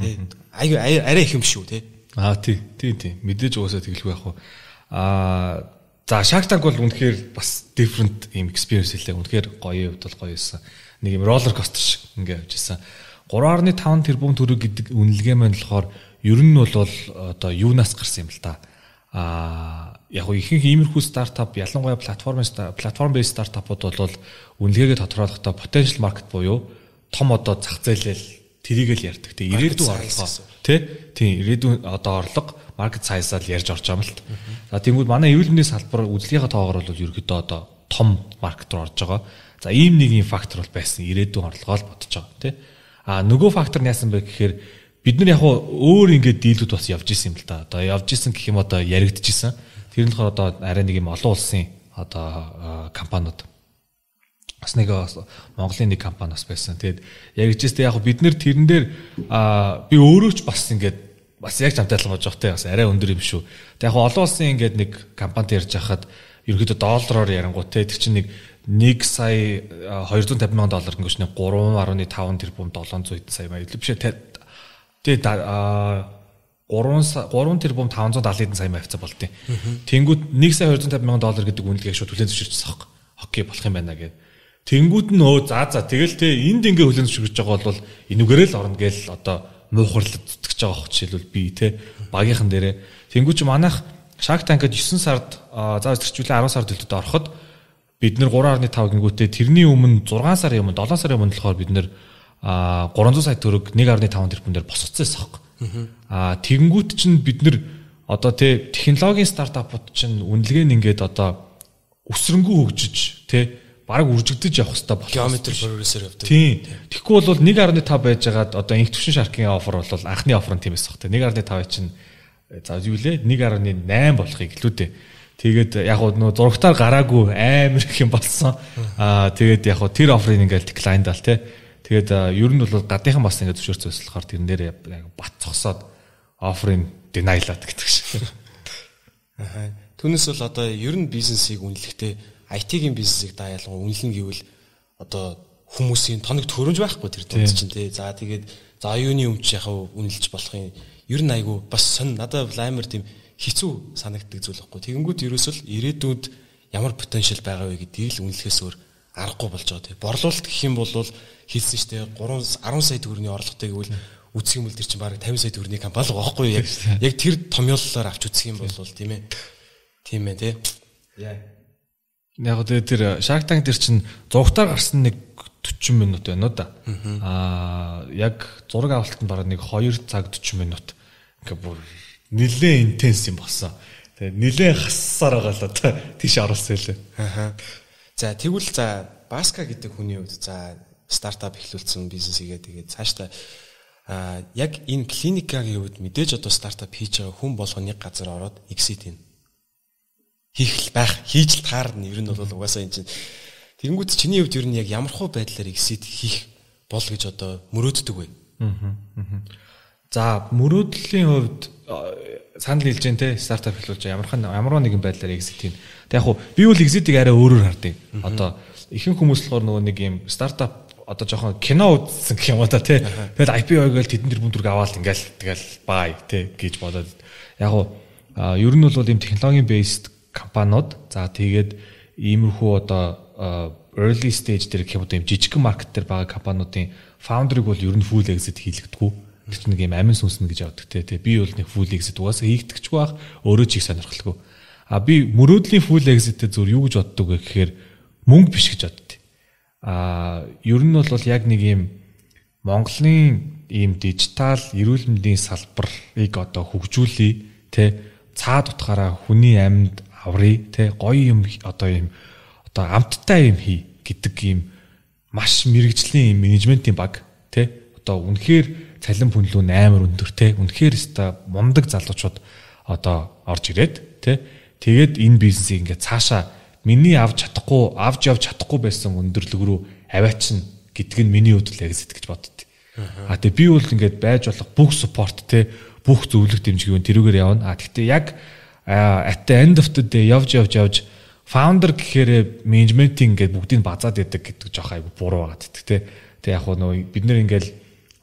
Тий. Арай их юм шүү тий. Тий. Мэдээж уусаа тэгэлгүй яах вэ? За Shark Tank бол үнэхээр бас different юм experience хэлээ. Үнэхээр гоё хувьд бол гоё байсан. Нэг юм roller coaster шиг ингээ явж исэн. 3.5 тэрбум төгрөг гэдэг үнэлгээ маань болохоор ер нь бол одоо юунаас гарсан юм л та. Яг нь ихэнх иймэрхүү стартап ялангуяа платформ based стартапууд бол үнэлгээгээ тодорхойлохдоо potential market буюу том одоо зах зээлэл тэрийг л ярьдаг. Тэ ирээдүйн орлого тий ирээдүйн одоо орлого market size-аар ярьж орж байгаа юм л та. За тэгвэл манай эрүүл мэндийн салбар үйлдвэрийн тоогоор бол ерөөдөө одоо том маркет руу орж байгаа. За ийм нэг юм фактор бол байсан ирээдүйн орлогоо л бодож байгаа тий. Нөгөө фактор нь яасан бэ гэхээр бид нар яг өөр ингээд дийлүүд бас явж исэн юм л да. Одоо явж исэн гэх юм одоо яригдчихсэн. Тэр нь болохоор одоо арай нэг юм олон улсын одоо компаниуд бас нэг Монголын нэг компани бас байсан. Тэгээд яригдчихсэн. Яг бид нар тэрэн дээр би өөрөө ч бас ингээд бас яг замтайлан болж байгаа те бас арай өндөр юм шүү. Тэг яг олон улсын ингээд нэг компанид ярьж хахад ерөөдөө доллараар ярангуут те тэр чинь нэг 1 сая 250 мянган доллар гэнэ 3.5 тэрбум 700 сая маяг биш тэгээ 3 тэрбум 570 сая маяг хавцаа болтیں۔ Тэнгүүд 1 сая 250 мянган доллар гэдэг үнэлгээ шууд хүлээн зөвшөөрчихсөн байхгүй. Окей болох юм байна гэд. Тэнгүүд нь за тэгэл те энд ингээ хүлээн зөвшөөрч байгаа бол энүүгээрээ л орно гээл одоо муухарлаж зүтгэж байгаа хөх жишээлбэл би те багийнхан дээрээ тэнгүүд чи манайх Shark Tank-д 9 сард за зэрчүүлээ 10 сард төлөвлөлтөд ороход бид нэр 3.5 гингүүтээ тэрний өмнө 6 сарын өмнө 7 сарын өмнө болохоор бид нэр 300 сая төгрөг 1.5 тэрбумээр босцсон байсан. Тэгэнгүүт чинь бид нэр одоо те технологийн стартапууд чинь үнэлгээ нь ингээд одоо өсрөнгөө хөгжиж те бараг үржигдэж явах хэрэгтэй болох. Geometry progressor явдаг. Тийм. Тэгэхгүй бол 1.5 байжгаад одоо инх төвшин Shark-ийн офер бол анхны офер нь тийм байсан хэ. 1.5 чинь за юу лээ 1.8 болохыг илүү дээ. Тэгээд яг нөө зурагтаар гараагүй амар их юм болсон. Тэгээд яг тэр офрыг ингээл decline дал те. Тэгээд ер нь бол гадныхан бас ингээд зөвшөөрсөн болохоор тэрэн дээр бат цогсоод офрыг denial-аад гэдэг шиг. Түүнээс бол одоо ер нь бизнесийг үнэлэхдээ IT-ийн бизнесийг та ялгуу үнэлнэ гэвэл одоо хүмүүсийн тоног төрөмж байхгүй тэр тул чинь тий. За тэгээд за юуны өмч яхав үнэлж болох юм. Ер нь айгу бас сонь надад амар тийм хэцүү санагддаг зүйл байхгүй. Тэгэнгүүт ерөөсөл ирээдүйд ямар потенциал байгаа вэ гэдгийг л үнэлэхээс өөр аргагүй болж байгаа тий. Борлуулалт гэх юм бол хэлсэн штэ 10 сая төгрөгийн орлоготой гэвэл үсэх юм бол тэр чинь бараг 50 сая төгрөгийн компани байгаа байхгүй юу? Яг тэр томьёоллоор авч үсэх юм бол тийм ээ. Тийм ээ тий. Яг тэр Shark Tank дээр чинь зургатаар гарсан нэг 40 минут байна уу да. Яг зураг авалтанд бараг нэг 2 цаг 40 минут. Ингээ бүр нэлээд интенс юм болсон. Тэгээ нэлээд хассаар байгаа л одоо тийш оруулсан хэлээ. За тэгвэл за Баска гэдэг хүний хувьд за стартап эхлүүлсэн бизнес игээ тэгээд цаашдаа яг энэ клиникагийн хувьд мэдээж одоо стартап хийж байгаа хүн болгоо нэг газар ороод exit ийн хийх хийж л таарна ер нь бол угаасаа энэ чинь тэгэнгүүт чиний хувьд ер нь яг ямар хуу байдлаар exit хийх бол гэж одоо мөрөөддөг вэ? За мөрөөдлийн хувьд санал хэлж जैन те стартап эхлүүлж ямар нэгэн байдлаар exit ийн. Тэг яг хуу би бол exit-ийг арай өөрөөр хардыг. Одоо ихэнх хүмүүс болохоор нөгөө нэг юм стартап одоо жоохон кино үзсэн гэх юм уу та те. Тэгэл IPO гээл тэдэн тэрбум төгрөг аваад ингээл тэгэл бай те гэж бодоод яг хуу ер нь бол ийм технологийн based компаниуд за тэгээд иймэрхүү одоо early stage дээр гэх юм уу ийм жижигхэн маркет дээр байгаа компаниудын founder-ыг бол ер нь full exit хийлэгдэггүй. Тэр чинь нэг юм амин сүнснэ гэж явдаг те. Би бол нэг full exit угаасаа хийгдэгчгүй байх өөрөө ч их сонирхолтой. Би мөрөөдлийн full exit-тэй зөв юу гэж боддог вэ гэхээр мөнгө биш гэж боддог. Ер нь бол яг нэг юм Монголын ийм дижитал эрүүл мэндийн салбарыг одоо хөгжүүлээ те цаад утгаараа хүний амьд аврыг те гоё юм одоо амттай юм хий гэдэг ийм маш мэрэгжлийн менежментийн баг те одоо үнэхээр цалин пүнлүү амар өндөр те үнэхээр өста мундаг залуучууд одоо орж ирээд те тэгээд энэ бизнесийг ингээд цаашаа миний авч явж чадахгүй байсан өндөрлөг рүү аваачин гэдг нь миний хувьд л яг сэтгэж боддتي. Тэгээ би бол ингээд байж болох бүх support те бүх зөвлөх дэмжиг тэрүүгээр явна. Гэхдээ яг at the end of the day явж founder гэхээр менежментийн ингээд бүгдийг базаад яадаг гэдэг жоох айгу буруу байгаад байдаг те. Тэг яг нөө бид нэр ингээд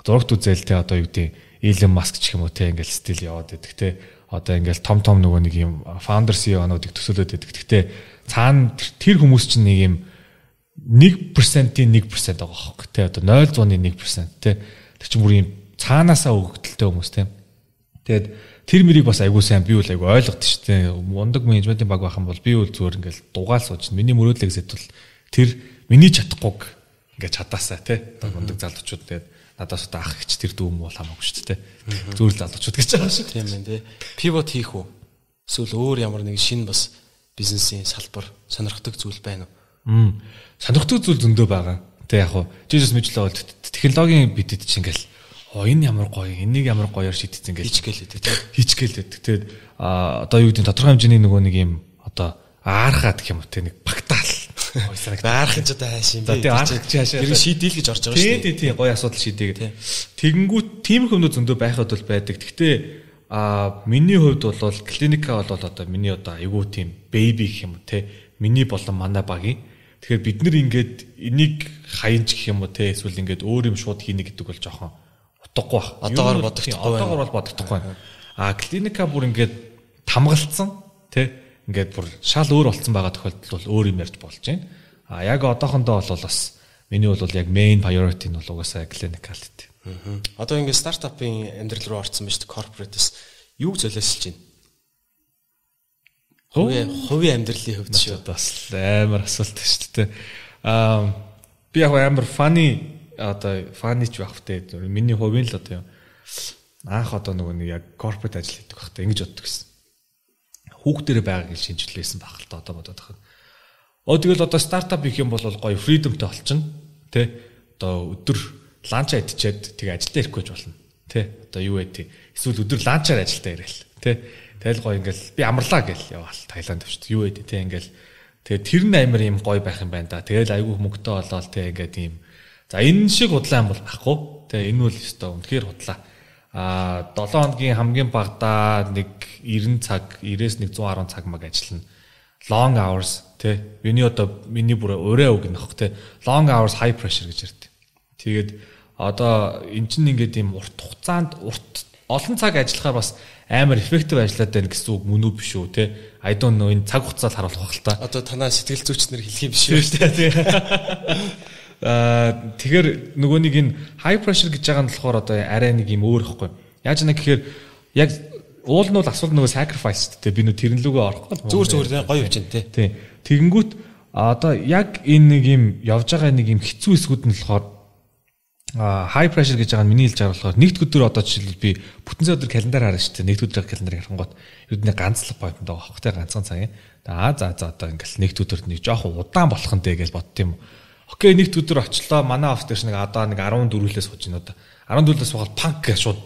зурагт үзэл те одоо юу гэдэг Elon Musk ч юм уу те ингээд стил яваад байдаг те. Одоо ингээд том нөгөө нэг юм founder CEO-нуудыг төсөөлөд байдаг. Гэхдээ цаана тэр хүмүүс чинь нэг юм 1%-ийн 1% байгаа хөөхгүй те. Одоо 0.1% те. Тэр чинь бүр юм цаанаасаа өгөгдөлтэй хүмүүс те. Тэгээд тэр мөрийг бас айгуу сайн би бол айгуу ойлгоод шүү дээ. Мундаг менежментийн баг байх юм бол би бол зүгээр ингээл дугаал сууж миний мөрөөдлийг зэтвэл тэр миний чадахгүйг ингээд чадаасаа тий. Мундаг залуучууд тэгээд надаас одоо ах ихч тэр дүүм бол хамаагүй шүү дээ. Зүгээр л залуучууд гэж байгаа шүү. Тийм ээ тий. Pivot хийх үү? Эсвэл өөр ямар нэг шинэ бас бизнесийн салбар сонирхдаг зүйл байна уу? Сонирхдаг зүйл зөндөө байгаа. Тэг яг хуу жижигс мэдлээ бол технологийн бидэд чинь ингээл энэ ямар гоё, энийг ямар гоёор шийдсэн гэж хийчгээл байдаг. Тэгээд одоо юу гэдэг тодорхой хэмжээний нөгөө нэг юм одоо аархаад гэх юм уу те нэг багтаал. Аарах ч одоо хайш юм бэ. Тэгээд аарах чи хаашаа. Тэр шийдэл гэж орж байгаа шүү дээ. Тийм гоё асуудал шийдээг. Тэгэнгүүт тиймэрхүү хүмүүс зөндөө байхад бол байдаг. Гэхдээ миний хувьд бол клиника бол одоо миний одоо айгүй тийм бэби гэх юм уу те. Миний болон манай багийн. Тэгэхээр бид нэр ингээд энийг хаянч гэх юм уу те эсвэл ингээд өөр юм шууд хийнэ гэдэг бол жоохон утгагүй баг. Одоогоор бодохдохгүй байна. Клиника бүр ингээд тамгалцсан тий ингээд бүр шал өөр болцсон байгаа тохиолдолд бол өөр юм ярьж болж байна. Яг одоохондоо бол бас миний бол яг main priority нь бол угаасаа клиникалт. Одоо ингээд стартапын амьдрал руу орсон байж corporate-с юуг золиослж байна? Хувийн амьдралын хувьд шүү. Бас амар асуулт шүү дээ. Би яг амар funny ч байх вэ. Миний хувийн л одоо анх одоо нөгөө нэг яг corporate ажил хийдэг байхдаа ингэж боддог гэсэн. Хүүхдэрээ байгааг шинжилсэн байх л та одоо бодоод байна. Тэгэл одоо стартап хийх юм бол гоё freedomтэй болчихно. Тэ одоо өдөр ланчаа идчихэд тэгээ ажилдаа ирэхгүй ч болно. Тэ одоо юу вэ тий. Эсвэл өдөр ланчаар ажилдаа ирээл. Тэ тэгэл гоё ингээл би амарлаа гэл яваал Таиланд авчт. Юу вэ тий ингээл тэгээ тэр нь амар юм гоё байх юм байна да. Тэгэл айгүй мөнгөтэй болоод тий ингээд ийм. За энэ шиг худлаа юм бол байхгүй. Тэгээ энэ бол өстой үнэхээр худлаа. 7 хоногийн хамгийн багадаа нэг 90 цаг, 90-ээс 110 цаг маг ажиллана. Long hours тий. Миний бүр өрөө үг нөх тий. Long hours high pressure гэж ярьдаг. Тэгээд одоо эн чинь ингээд ийм урт хугацаанд олон цаг ажиллахаар бас амар effective ажиллаад байна гэсэн үг мөн үү биш үү тий. I don't know энэ цаг хугацаанд харуулах байх л та. Одоо танаа сэтгэл зүйчнэр хэлэх юм биш үү тий. Тэгэхээр нөгөө нэг энэ high pressure гэж байгаа нь болохоор одоо арай нэг юм өөр ихгүй. Яаж нэг гэхээр яг уул нь бол асуулт нөгөө sacrifice те би нөө тэрэн лүгөө орохгүй. Зүгээр гоё явж байна те. Тэгэнгүүт одоо яг энэ нэг юм явж байгаа нэг юм хэцүү хэсгүүд нь болохоор high pressure гэж байгаа нь миний хэлж байгаа болохоор нэгд өдөр одоо жишээлбэл би бүтэн цаг өдөр календар харна шүү дээ. Нэгд өдрийн календарыг харангуут ердөө ганцлах поинт байгаа байхгүй те ганцхан цагийн. За одоо ингээл нэгд өдөрт нэг жоохон удаан болох нь дээ гэж бодд юм. Окей нэгд өдөр очлоо манай офс дээр нэг одоо нэг 14-өөс сууж байна одоо 14-өөс суугаад панк гэж шууд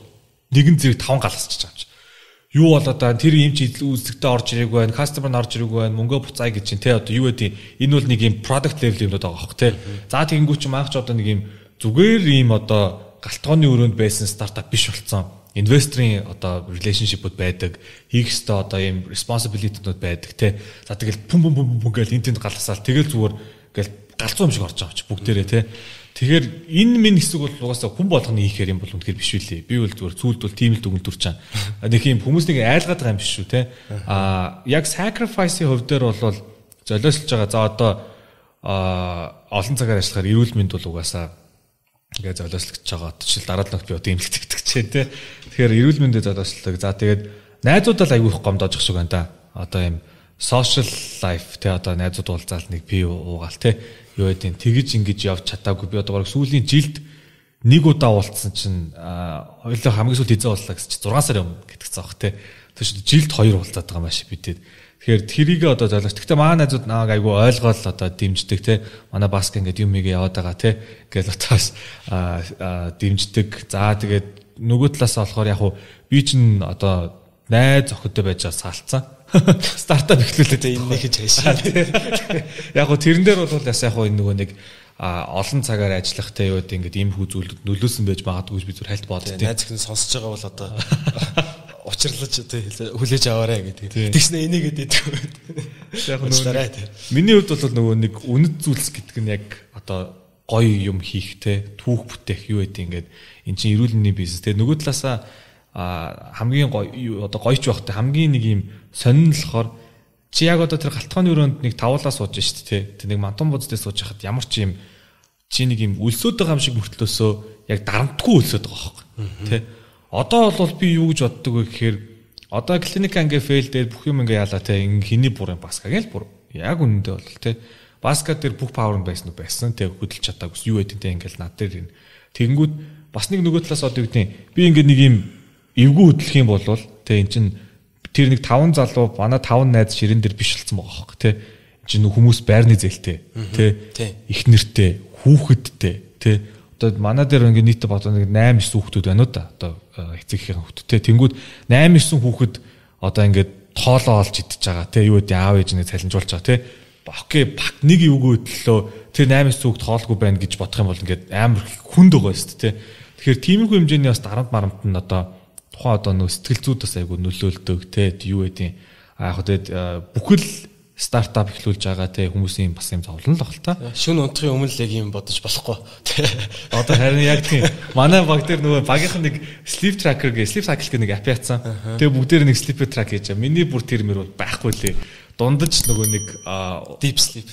нэгэн зэрэг 5 галасчих байгаа юм чи. Юу бол одоо тэр юм чи үзэгтэй орж ирээгүй байна, customer нь орж ирээгүй байна, мөнгөө буцаая гэж чинь те одоо юу гэдэг энэ бол нэг юм product level юм байгаа байхгүй те. За тэгэнгүүт чи маах ч одоо нэг юм зүгээр юм одоо галтгооны өрөөнд байсан стартап биш болцсон. Инвесторын одоо relationship-ууд байдаг, хийх ёстой одоо юм responsibility-нууд байдаг те. За тэгэл пүм гэл энэ тэнд галасаал тэгэл зүгээр гэл галзуу юм шиг орж байгаа ч бүгдээрээ те. Тэгэхээр энэ минь хэсэг бол угаасаа хүн болгоны хийхээр юм бол үнэхээр биш үлээ. Би бол зүгээр зүйлд бол тийм л дүгнэлтүрч чана. Нэг юм хүмүүсийг айлгаад байгаа юм биш шүү те. Яг sacrifice-ийн хувь дээр бол золиослж байгаа. За одоо олон цагаар ажиллахаар эрүүл мэнд бол угаасаа ингээ золиослогдож байгаа. Жишээл дараа нь би одоо имлэгдэх гэж те. Тэгэхээр эрүүл мэндээ золиослог. За тэгээд найзуудаа аягүй их гомдож ах шиг байна да. Одоо юм social life те одоо найзууд уулзаал нэг пив уугаал те юу гэдэг тэгж ингэж явж чадаагүй би одоо сүүлийн жилд нэг удаа уулзсан чинь хоёулаа хамгийн сүүлд хизээ уулзлаа гэсэн чинь 6 сарын өмнө гэтгцэн баг те тэгэхээр жилд 2 уулзаад байгаа маш бидэд тэгэхээр тэрийг одоо золиос гэхдээ манай найзууд нааг айгүй ойлгоол одоо дэмждэг те манай баск ингээд юм игээ яваад байгаа те ингээл отоос дэмждэг за тэгээд нөгөө талаас болохоор яг хуу би чинь одоо найз охидтой байж байгаа салцсан Стартап эхлүүлээд энэ нэг гэж хайшаа. Яг гоо тэрэн дээр бол бас яг гоо энэ нөгөө нэг олон цагаар ажиллах те юу гэдэг ингээд ийм хүү зүйлүүд нөлөөсөн байж магадгүй би зүр хальт боддог. Найз ихний сонсож байгаа бол одоо учирлаж хүлээж аваарай гэдэг. Тэгснэ энийг гэдэг. Яг нөгөө миний хувьд бол нөгөө нэг үнэт зүйлс гэдэг нь яг одоо гоё юм хийх те түүх бүтээх юу гэдэг ингээд эн чинь эрүүл мэндийн бизнес те нөгөө талаасаа хамгийн гоё одоо гоёч байхтай хамгийн нэг юм сонин л болохоор чи яг одоо тэр галтгооны өрөөнд нэг тавуулаа сууж штэ те тэр нэг мантун буздээ сууж хахад ямар ч юм чи нэг юм өлсөд байгаа юм шиг мөртлөөсөө яг дарамтгүй өлсөд байгаа байхгүй те одоо бол би юу гэж боддог вэ гэхээр одоо клиник анги фейл дээр бүх юм ингээ яалаа те хиний бүрэн баска гэл бүр яг үнэндээ бол те баска дээр бүх павер нь байсан уу байсан те хөдөлж чадаагүй юу гэдэг те ингээл над дээр энэ тэгэнгүүт бас нэг нөгөө талаас одоо гэдэг би ингээ нэг юм эвгүй хөдлөх юм бол те эн чин тэр нэг 5 залуу манай 5 найз ширэн дээр биш болсон байгаа хөөхгүй те эн чин хүмүүс байрны зээлтэй те их нэртэй хүүхэдтэй те одоо манай дээр ингээ нийтээ бодоо нэг 8 9 хүүхдүүд байна уу да одоо эцэгхийн хүүхдтэй тэнгүүд 8 9 хүүхэд одоо ингээд тоолоо олж идэж байгаа те юу гэдэг аав ээж нэг цалинжуулж байгаа те окей баг нэг эвгүй хөдлөө тэр 8 9 хүүхд тоолгүй байна гэж бодох юм бол ингээд амар хүнд байгаа шүү дээ те тэгэхээр тиймэрхүү хэмжээний бас дарамт марамт нь одоо тухайн одоо нөө сэтгэл зүйд бас айгу нөлөөлдөг те юу гэдэг яг хөө бүхэл стартап эхлүүлж байгаа те хүмүүсийн бас юм зовлон л баг л та. Шүн унтахын өмнө л яг юм бодож болохгүй. Одоо харин яг тийм манай баг дээр нөгөө багийнхан нэг sleep tracker гэх sleep cycle гэх нэг апп яатсан. Тэгээ бүгдээр нэг sleep track хийж байгаа. Миний бүр тэр мөр бол байхгүй лээ. Дундаж нөгөө нэг deep sleep.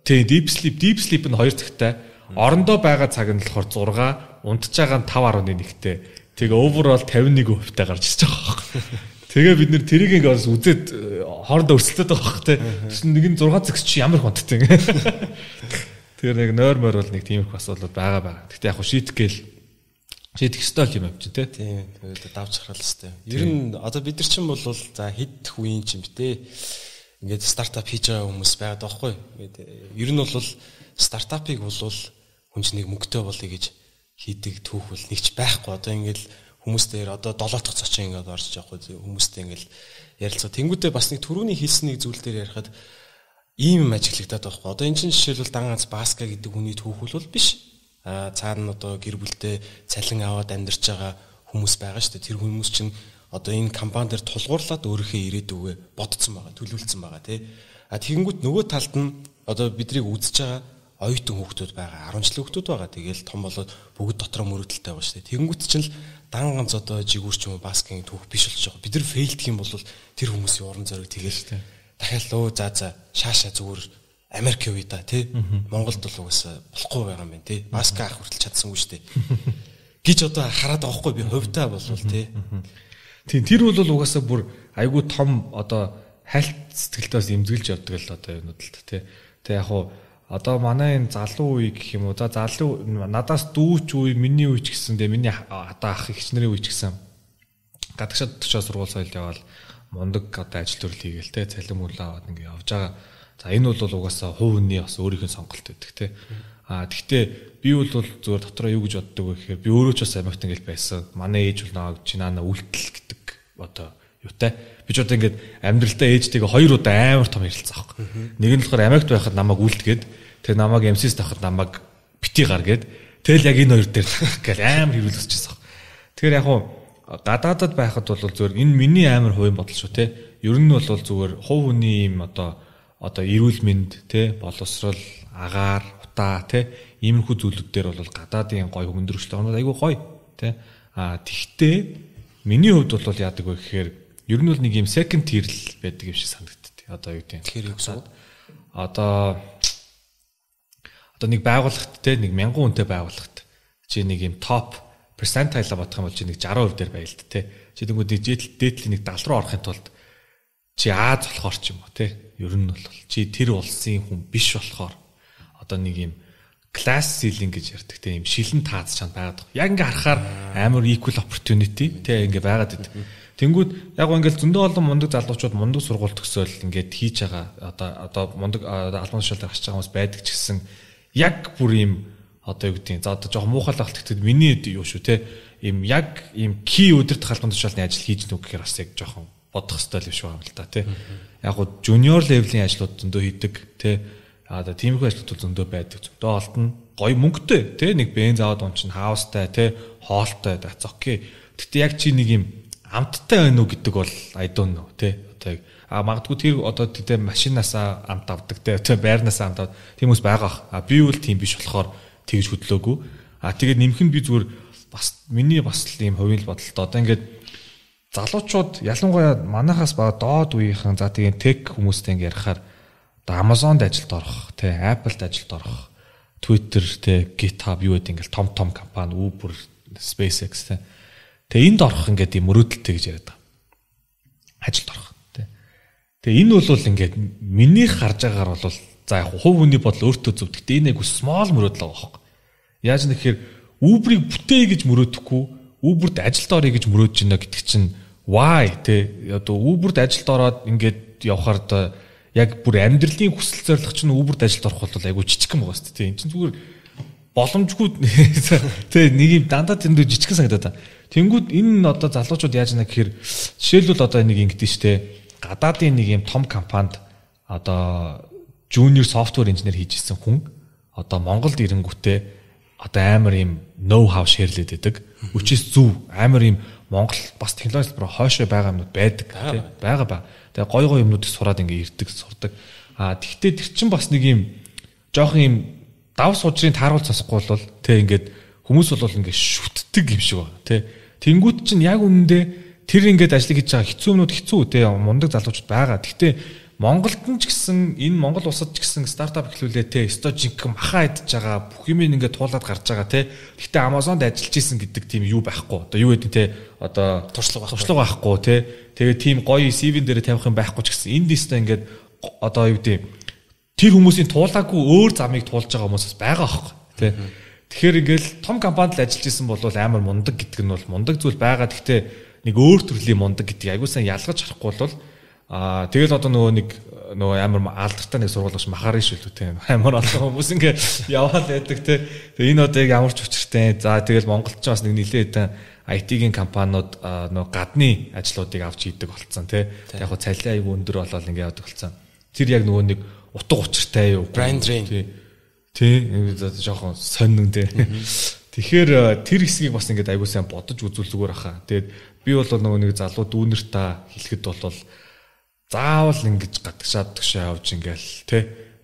Тийм deep sleep нь 2 цагтай. Орондоо байгаа цаг нь болохоор 6, унтж байгаа нь 5.1-тэй. Тэгээ overall 51%-тай гарч ирж байгаа байхгүй. Тэгээ бид нэр тэрийг ингээд үзээд хоорондоо өрсөлдөд байгаа байхгүй те. Тэгсэн нэг нь 6 цагч чи ямар хонттой ингэ. Тэр нэг нойр бол нэг тийм их асуудал байгаа. Гэхдээ яг хөө шийдэх ёстой юм чи те. Тийм. Тэгээд давж харах ёстой. Ер нь одоо бид нар чинь бол за хэд үеийн ч юм те. Ингээд стартап хийж байгаа хүмүүс байгаад байгаа байхгүй. Ингээд ер нь бол стартапыг бол хүн чинь нэг мөнгөтэй болъё гэж хийдэг түүх бол нэгч байхгүй. Одоо ингээд хүмүүс дээр одоо 7 дахь цочин ингээд орж байгаа хүмүүстэй ингээд ярилцгаа. Тэнгүүдээ бас нэг түрүүний хэлсэн нэг зүйл дээр ярихад ийм юм ажиглагдаад байгаа байхгүй. Одоо энэ чинь жишээлбэл дан ганц Баска гэдэг хүний түүх бол биш. Цаана одоо гэр бүлтэй цалин аваад амьдарч байгаа хүмүүс байгаа шүү дээ. Тэр хүмүүс чинь одоо энэ компани дээр тулгуурлаад өөрийнхөө ирээдүгөө бодцсон байгаа, төлөвлөсөн байгаа тий. Тэгэнгүүт нөгөө талд нь одоо бидрийг үзэж байгаа оюутан хүүхдүүд байгаа, 10 жилийн хүүхдүүд байгаа. Тэгээл том болоод бүгд дотроо мөрөдөлтэй байгаа шүү дээ. Тэгэнгүүт чинь л дан ганц одоо жигүүрч юм баскетбол түүх биш болж байгаа. Бид нар фейлдэх юм бол тэр хүмүүсийн уран зориг тэгээл дахиад лөө за шаашаа зүгээр Америк явъя да тий. Монголд бол угаасаа болохгүй байгаа юм байна тий. Баска ах хүртэл чадсангүй шүү дээ. Гэж одоо хараад байгаа хгүй би хувьдаа бол тий. Тийм тэр бол угаасаа бүр айгүй том одоо хальт сэтгэлдээс имзгэлж явдаг л одоо юмуд л тий. Тэ яг хуу одоо манай энэ залуу үе гэх юм уу за залуу надаас дүүч үе миний үе ч гэсэндээ миний одоо ах ихчнэрийн үе ч гэсэн гадагшаад төчөө сургууль соёл яваал мундаг одоо ажил төрөл хийгээл те цалин мөнгө аваад ингэ явж байгаа. За энэ бол угаасаа хувь хүний бас өөрийнх нь сонголт байдаг те. Тэгтээ би бол зөвөр дотроо юу гэж боддог вэ гэхээр би өөрөө ч бас Америкт ингээл байсан. Манай ээж бол наваг чинаана үлдэл гэдэг одоо юутай. Би ч одоо ингээд амьдралдаа ээжтэйгээ 2 удаа амар том ярилцсан аахгүй. Нэг нь болохоор Америкт байхад намайг үлдгээд тэр намайг МС-с тахад намайг бити гар гээд тэгэл яг энэ хоёр дээр тах гэл амар хэрүүл өсчихсэн. Тэгэхээр яг хуу гадаадад байхад бол зөвөр энэ миний амар хувийн бодол шүү те. Ер нь бол зөвөр хувь хүний юм одоо эрүүл мэнд те боловсрал агаар утаа те иймэрхүү зүйлүүд дээр бол гадаадын гой хөнгөрөлтэй оноо айгүй гоё те. Тэгтээ миний хувьд бол яадаг вэ гэхээр ер нь бол нэг юм second tier л байдаг юм шиг санагддаг. Одоо юу гэдэг. Тэгэхээр юу гэсэн? Одоо нэг байгууллагт те нэг 1000 хүнтэй байгууллагт чи нэг юм топ percentile бодох юм бол чи нэг 60% дээр байл те. Чи тэгвэл дээдлийн нэг 70 руу орохын тулд чи Аз болохоор ч юм уу те. Ер нь бол чи тэр улсын хүн биш болохоор одоо нэг юм class ceiling гэж ярьдаг те юм шилэн таац чанд байгаад байна. Яг ингээ харахаар амар equal opportunity те ингээ байгаад байдаг. Тэнгүүд яг ингээл зөндөө олон мундаг залуучууд мундаг сургууль төгсөөл ингээд хийж байгаа одоо мундаг албан тушаалд гарч байгаа хүмүүс байдаг ч гэсэн яг бүр юм одоо юу гэдэг за одоо жоохон муухай л болтогдод миний юу шүү те юм яг юм key өдөрт албан тушаалны ажил хийж нүг гэхээр бас яг жоохон бодох хэрэгтэй л биш байгаа юм л да тий. Яг гоо junior level-ийн ажлууд зөндөө хийдэг тий. Одоо тиймэрхүү ажлууд зөндөө байдаг. Зөндөө олдно. Гоё мөнгөтэй тий. Нэг бенз аваад унчин хаустай тий. Хоолтой that's okay. Гэтэ яг чи нэг юм амттай байна уу гэдэг бол I don't know тий. Одоо магадгүй тэр одоо тэ машинаасаа амт авдаг тэ байрнаасаа амт авдаг тийм хүмүүс байгаа. Би бол тийм биш болохоор тэгж хөдлөөгүй. Тэгээд нэмэх нь би зүгээр бас миний бас ийм хувийн бодолтой. Одоо ингээд залуучууд ялангуяа манайхаас бага доод үеийнхэн за тийм тек хүмүүстэй ингээд ярихаар одоо Amazon-д ажилд орох, тэ Apple-д ажилд орох, Twitter, тэ GitHub юу гэдэг ингээд том компани, Uber, SpaceX тэ. Тэгээ энд орох ингээд ийм мөрөөдөлтэй гэж яриад байгаа. Ажилд орох. Тэгээ энэ бол ингээд миний харж байгаагаар бол за яг хувь хүний бодол өөртөө зөв. Гэхдээ энэ айгу small мөрөөдөл байгаа байхгүй. Яаж нэхээр Uber-ыг бүтээе гэж мөрөөдөхгүй, Uber-д ажилд орё гэж мөрөөдж байна гэдэг чинь why тэ одоо Uber-д ажилд ороод ингээд явхаар одоо яг бүр амьдралын хүсэл зорилго чинь Uber-д ажилд орох бол айгу жижигхэн байгаа шүү дээ. Энэ чинь зүгээр боломжгүй тэ нэг юм дандаа тэндүү жижигхэн санагдаад та. Тэнгүүд энэ одоо залуучууд яаж нэ гэхээр жишээлбэл одоо нэг ингэдэж штэ гадаадын нэг юм том компанид одоо junior software engineer хийж ирсэн хүн одоо Монголд ирэнгүүтээ одоо амар юм know how шеэрлээд байдаг. Үчис зөв амар юм Монгол бас технологи хэлбэр хойшоо байгаа юмнууд байдаг тий байгаа. Тэгээ гой юмнуудыг сураад ингээ ирдэг сурдаг. Тэгвэл тэр чин бас нэг юм жоох юм дав сужрын тааруулж сонсохгүй бол тий ингээд хүмүүс бол ингээ шүтдэг юм шиг байна тий. Тэнгүүд чинь яг үнэндээ тэр ингээд ажил хийж байгаа хэцүү юмнууд хэцүү тий мундаг залуучууд байгаа. Гэхдээ Монголд ч гэсэн энэ Монгол улсад ч гэсэн стартап эхлүүлээ те өстой жинхэнэ маха идж байгаа бүх юм ингээд туулаад гарч байгаа те. Гэхдээ Amazon-д ажиллаж исэн гэдэг тийм юу байхгүй. Одоо юу гэдэг те одоо туршлага байхгүй те. Тэгээд тийм гоё CV-н дээр тавих юм байхгүй ч гэсэн энд өстой ингээд одоо юу гэдэг тэр хүмүүсийн туулаагүй өөр замыг туулж байгаа хүмүүсээс байгаа байхгүй те. Тэгэхээр ингээд том компанид ажиллаж исэн бол амар мундаг гэдэг нь бол мундаг зүйл байгаа. Гэхдээ нэг өөр төрлийн мундаг гэдэг айгуу сайн ялгаж харахгүй бол тэгэл одоо нөгөө амар алдартай нэг сургууль махаар ш үлээ те амар олон хүмүүс ингээ яваад байдаг те. Тэгээ энэ одоо яг ямар ч учиртай. За тэгэл Монголд ч бас нэг нэлээд IT-ийн компаниуд нөгөө гадны ажлуудыг авч хийдэг болцсон те. Яг хөө цалин аяг өндөр болоод ингээ явдаг болцсон. Тэр яг нөгөө нэг утга учиртай юу brand drain тий жоохон сонин те. Тэгэхээр тэр хэсгийг бас ингээ аягүй сайн бодож үзүүл зүгээр хаа. Тэгээд би бол нөгөө нэг залуу дүүнер та хэлэхэд бол заавал ингэж гадагшаад явж ингээл те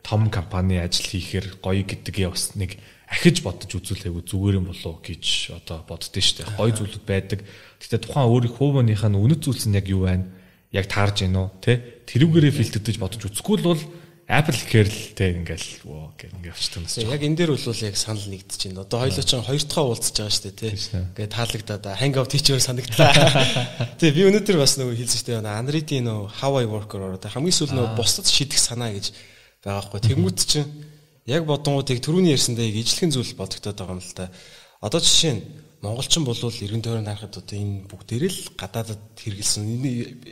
том компани ажил хийхээр гоё гэдгээ бас нэг ахиж бодож үзүүлээгүй зүгээр юм болов гэж одоо боддөө штэ. Гоё зүйлүүд байдаг. Гэхдээ тухайн өөрийн хувийнхаа үнэт зүйлс нь яг юу байна? Яг таарж гин үү те? Тэрүүгээрээ фильтрдэж бодож үзэхгүй л бол Apple гэхэр л те ингээл ингээ явчихдаг нас. Яг энэ дээр бол яг санал нэгдэж байна. Одоо хоёулаа ч хоёр дахь уулзж байгаа штэ те. Ингээ таалагдаад hangout хийчихээр санагдлаа. Тэг би өнөөдөр бас нөгөө хэлсэн штэ Android-ийн нөгөө how I work ороо хамгийн сүүл нөгөө бусдад шийдэх санаа гэж байгаа байхгүй. Тэнгүүд чинь яг бодонгуудыг түрүүний ярьсандаа ижлэхэн зүйл бодогдоод байгаа юм л та. Одоо жишээ нь монголчин болвол эргэн тойронд харахад одоо энэ бүгдээрээ л гадаадад хэрэгэлсэн энэ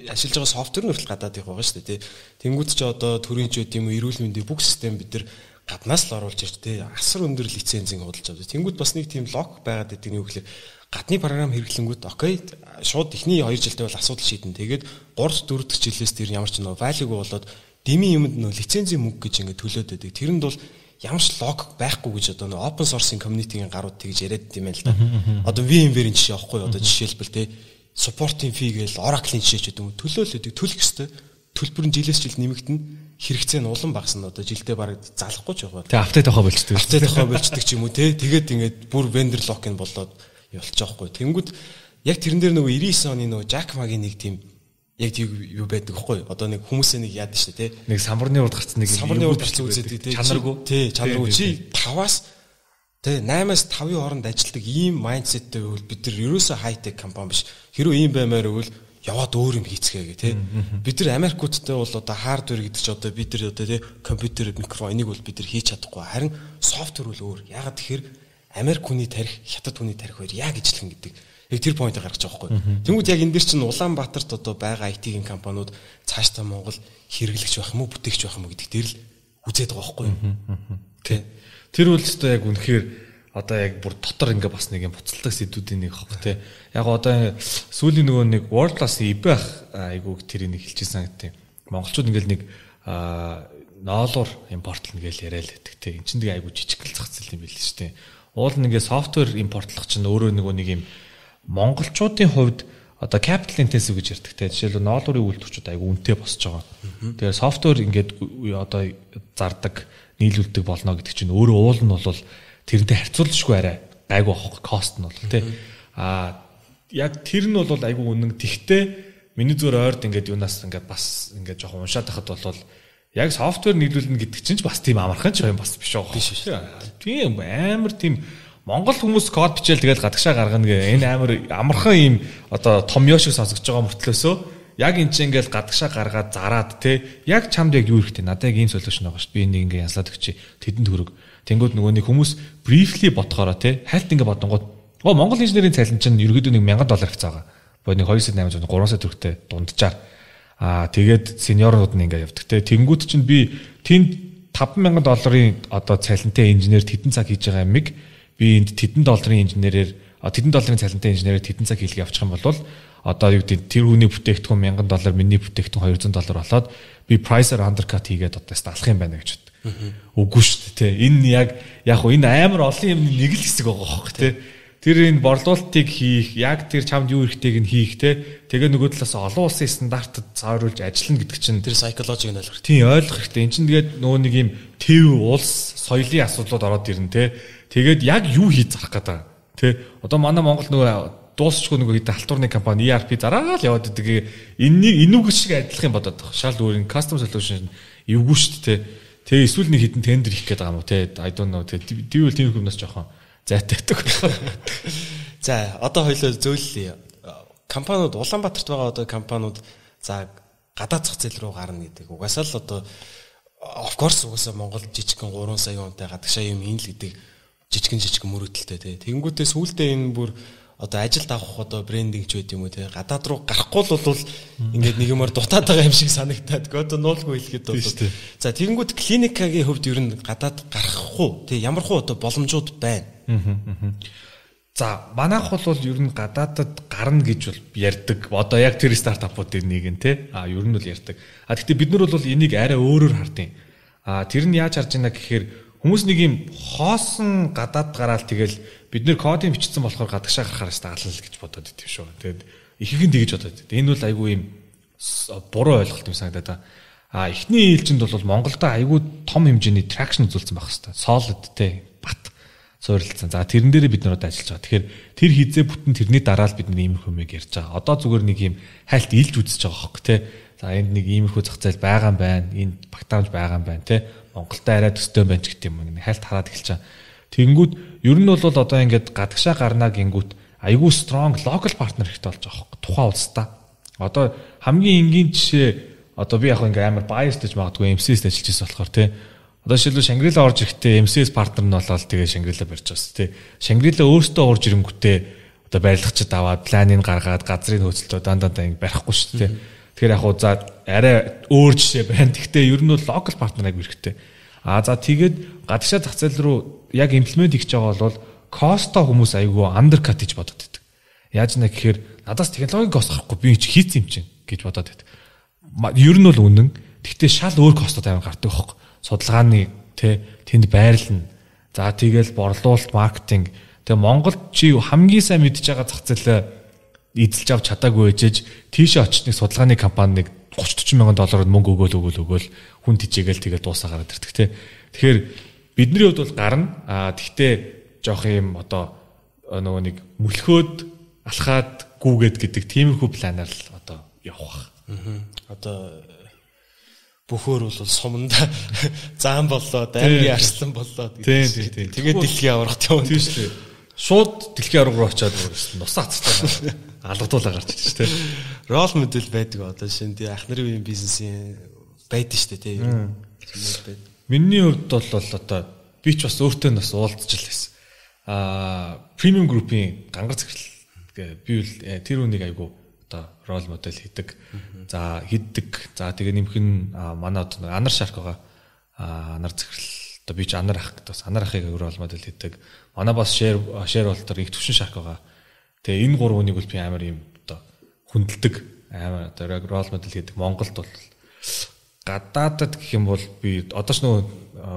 ашиглаж байгаа софтвер нь хүртэл гадаад их байгаа шүү дээ. Тэнгүүд ч одоо төрийн ч үт юм эрүүл мэндийн бүх систем бид нар гаднаас л оруулж ирж тэ асар өндөр лицензийг худалдаж авдаг. Тэнгүүд бас нэг тийм лог байгаад байдаг нь юу гэхээр гадны програм хэрэглэнгүүт окей шууд эхний 2 жилдээ бол асуудал шийдэн. Тэгээд 3 4 дахь жилээс тэр ямар ч нөө value болоод дэмий юмд нөө лицензийн мөнгө гэж ингээд төлөөд байдаг. Тэрэнд бол ямар ч лог байхгүй гэж одоо нөө open source-ийн community-ийн гарууд тэгж яриад димээ л да. Одоо VMware-ийн жишээ авахгүй одоо жишээлбэл те support-ийн fee гээл Oracle-ийн жишээ ч гэдэг юм төлөөлөдөг төлөх ёстой. Төлбөр нь жилээс жилд нэмэгдэнэ. Хэрэгцээ нь улам багасна одоо жилдээ бараг залахгүй ч байгаа. Тэгээ апдейт авах болчдөг. Апдейт авах болчдөг ч юм уу те. Тэгээд ингээд бүр vendor lock-ын болоод явуулчих жоохгүй. Тэнгүүд яг тэрэн дээр нөгөө 99 оны нөгөө Jack Ma-гийн нэг тийм яг юу байдаг вэ? Одоо нэг хүмүүсээ нэг яадаг шүү дээ, тий. Нэг самбарны урд гарцсан нэг самбарны урд гарцсан үзээдэг, тий. Чанаргүй. Тий, чанаргүй. Чи 5-аас тий 8-аас 5-ын хооронд ажилтдаг ийм майндсеттэй байвал бид нар ерөөсөө хай-тек компани биш. Хэрвээ ийм баймаар байвал яваад өөр юм хийцгээе, тий. Бид нар Америкуудтай бол одоо хардвер гэдэг чи одоо бид нар одоо тий компьютер, микрофон энийг бол бид нар хийж чадахгүй. Харин софтвер бол өөр. Ягаад тэгэхээр Америк хүний тарих, Хятад хүний тарих хоёр яг ижилхэн гэдэг. Яг тэр поинтыг гаргаж байгаа байхгүй. Тэнгүүд яг энэ дэр чинь Улаанбаатарт одоо байгаа IT-ийн компаниуд цаашдаа Монгол хэрэглэгч байх юм уу, бүтээгч байх юм уу гэдэг дээр л үзээд байгаа байхгүй. Тий. Тэр үл өстой яг үнэхээр одоо яг бүр дотор ингээ бас нэг юм буцалдаг сэдвүүдийн нэг хог те. Яг одоо сүүлийн нөгөө нэг World Class eBay айгуу тэрийг хэлчихсэн гэдэг. Монголчууд ингээл нэг ноолуур импортлно гэж яриад байдаг те. Энд чинь тэгээ айгуу жижигэл зах зээл юм байл шүү дээ. Уул нэг софтвер импортлох чинь өөрөө нэг юм монголчуудын хувьд одоо capital intensive гэж ярьдаг те. Жишээлбэл ноолуурын үйлдвэрчүүд айгуу үнэтэй босч байгаа. Тэгэхээр софтвер ингээд одоо зардаг, нийлүүлдэг болно гэдэг чинь өөрөө уул нь бол тэрнтэй харьцуулшгүй арай гайгүй авах кост нь бол тий. Яг тэр нь бол айгүй үнэн. Тэгтээ миний зүгээр ойрд ингээд юунаас ингээд бас ингээд жоохон уншаад байхад бол яг софтвер нийлүүлнэ гэдэг чинь ч бас тийм амархан ч юм бас биш байгаа. Биш шүү. Тийм амар тийм Монгол хүмүүс код бичээл тэгэл гадагшаа гаргана гэ. Энэ амар амархан ийм одоо том ёо шиг сонсогдож байгаа мөртлөөсөө яг энэ чинь ингээд гадагшаа гаргаад зараад тий. Яг чамд яг юу хэрэгтэй? Надад яг ийм солиушн байгаа ш. Би энийг ингээд янзлаад өгчий. Тэдэнд хөрөг. Тэнгүүд нөгөө нэг хүмүүс briefly бодохороо тий хальт ингээ бодонгууд Монгол инженерийн цалин чинь ерөөдөө $1,000 хэвцээ байгаа. Боо нэг 2,800 3 сая төгрөгтэй дунджаар. Тэгээд сениорнууд нь ингээ явдаг тий. Тэнгүүд чинь би тэнд $5,000 одоо цалинтай инженер тэдэн цаг хийж байгаа юмыг би энд $10 инженерээр $10 цалинтай инженерээр тэдэн цаг хийлгээ авчих юм бол одоо юу гэдэг тэр хүний бүтээгдэхүүн $1,000 миний бүтээгдэхүүн $200 болоод би pricer undercut хийгээд одоо алах юм байна гэж. Үгүй шүү дээ. Энэ яг хуу энэ амар олон юмны нэг л хэсэг байгаа хөөхгүй тий. Тэр энэ борлуулалтыг хийх, яг тэр чамд юу хэрэгтэйг нь хийх тий. Тэгээ нөгөө талаас олон улсын стандартад цааруулж ажиллана гэдэг чинь тэр psychology-г нь ойлгох. Тийм ойлгох хэрэгтэй. Энд чинь тэгээд нөгөө нэг юм төв улс соёлын асуудлууд ороод ирнэ тий. Тэгээд яг юу хийж зарах гэдэг тий. Одоо манай Монгол нөгөө дуусчгүй нөгөө хэд халтурны компани ERP зараад яваад идэг. Энүүг шиг адилхан бодоод байгаа. Шал өөр custom solution эвгүй шүү дээ. Тэгээ эсвэл нэг хитэн тендер хийх гээд байгаа юм уу те I don't know тэгээ тийм хүмүүс жоохон зайтай байдаг. За одоо хоёлоо зөөллөе. Компаниуд Улаанбаатарт байгаа одоо компаниуд за гадаад зах зээл рүү гарна гэдэг. Угаасаа л одоо of course угаасаа Монгол жижигхэн 3 сая хүнтэй гадагшаа юм ийн л гэдэг жижигхэн мөрөөдөлтэй те. Тэнгүүтээ сүүлдээ энэ бүр одоо ажилд авах одоо брендинг ч байд юм уу те гадаад руу гарахгүй л бол ингээд нэг юмар дутаад байгаа юм шиг санагтаад одоо нуулгүй хэлэхэд бол за тэгэнгүүт клиникагийн хөвд ер нь гадаад гарахгүй те ямар хуу одоо боломжууд байна. За манайх бол ер нь гадаадад гарна гэж бол ярьдаг. Одоо яг тэр стартапуудын нэг нь те ер нь бол ярьдаг. Гэхдээ бид нар бол энийг арай өөрөөр хардیں۔ Тэр нь яаж харж байна гэхээр хүмүүс нэг юм хоосон гадаад гараал тэгэл бид нэр кодын бичсэн болохоор гадагшаа гарахаар стаална л гэж бодоод идэв шүү. Тэгээд ихэнх нь тэгэж бодоод идэв. Энэ бол айгүй юм буруу ойлголт юм санагдаад байна. Эхний ээлжинд бол Монголда айгүй том хэмжээний traction үзүүлсэн байх хэвээр. Solid те бат суурилсан. За тэрэн дээрээ бид нар одоо ажиллаж байгаа. Тэгэхээр тэр хизээ бүтэн тэрний дараа л бид нар иймэрхүү юм ярьж байгаа. Одоо зүгээр нэг юм хальт илж үзэж байгаа хөөхгүй те. За энд нэг иймэрхүү зах зээл байгаа юм байна. Энд багтаамж байгаа юм байна те. Монголтай арай төстэй байна ч гэдэг юм. Хальт хараад эхэлж байгаа. Тэнгүүд ер нь бол одоо ингээд гадагшаа гарнаа гингүүт айгүй strong local partner хэрэгтэй болж байгаа хөөхгүй. Тухайн улстай. Одоо хамгийн энгийн жишээ одоо би яг ингээ амар biased гэж магадгүй MCS-д ажиллаж байсан болохоор те. Одоо жишээлбэл Шангрила орж ирэхдээ MCS партнер нь болоод тэгээ Шангрила барьж байгаас те. Шангрила өөртөө орж ирэнгүүтээ одоо барилгачд аваад планыг гаргаад газрын хөөцөлтөө дандаа ингээ барихгүй шүү дээ. Тэгэхээр яг хуу за арай өөр жишээ байна. Гэхдээ ер нь бол local partner аяг хэрэгтэй. За тэгээд гадагшаа зах зээл рүү яг имплемент хийж байгаа бол коста хүмүүс айгүй undercut гэж бодоод байдаг. Яаж нэ гэхээр надаас технологиг осохгүй би чи хийц юм чинь гэж бодоод байдаг. Ер нь бол үнэн. Гэхдээ шал өөр костод аван гардаг байхгүй. Судалгааны тэнд байрлна. За тэгэл борлуулалт, маркетинг. Тэгээ Монголд чи хамгийн сайн мэдж байгаа зах зээлээ эзэлж авч чадаагүй ээжэж тийшээ очсныг судалгааны компаниг $30-40 мянган мөнгө өгөөл хүн тижээгээл тэгээ дуусаа гараад ирдэг те. Тэгэхээр бидний хувьд бол гарна. Тэгтээ жоох юм одоо нөгөө нэг мөлхөөд алхаад гүүгээд гэдэг тиймэрхүү планаар л одоо явах. Одоо бөхөр бол суманда заан боллоо, дайргийн арслан боллоо гэдэг. Тэгээд дэлхийн аврагт явна тийм шүү дээ. Шууд дэлхийн авраг руу очиад нусаа цацтай алгадуулаа гарч ирж шүү дээ. Рол модель байдаг одоо шинэ тий ах нарын үеийн бизнесийн байдаг шүү дээ тий. Миний хувьд бол одоо би ч бас өөртөө бас уулзж л байсан. Премиум группийн гангар захирал би тэр үнийг айгу одоо рол модель хийдэг. За хийдэг. За тэгээ нэмэх нь манай одоо Анар Шарк байгаа. Анар захирал Одоо би ч анар ах гэдэг бас анар ахыг рол модель хийдэг. Манай бас share болтоор их төвшин шарк байгаа. Тэгээ энэ гурав хүнийг бол би амар юм одоо хүндэлдэг амар одоо рол модель хийдэг. Монголд бол гадаадад гэх юм бол би одоо ч нөгөө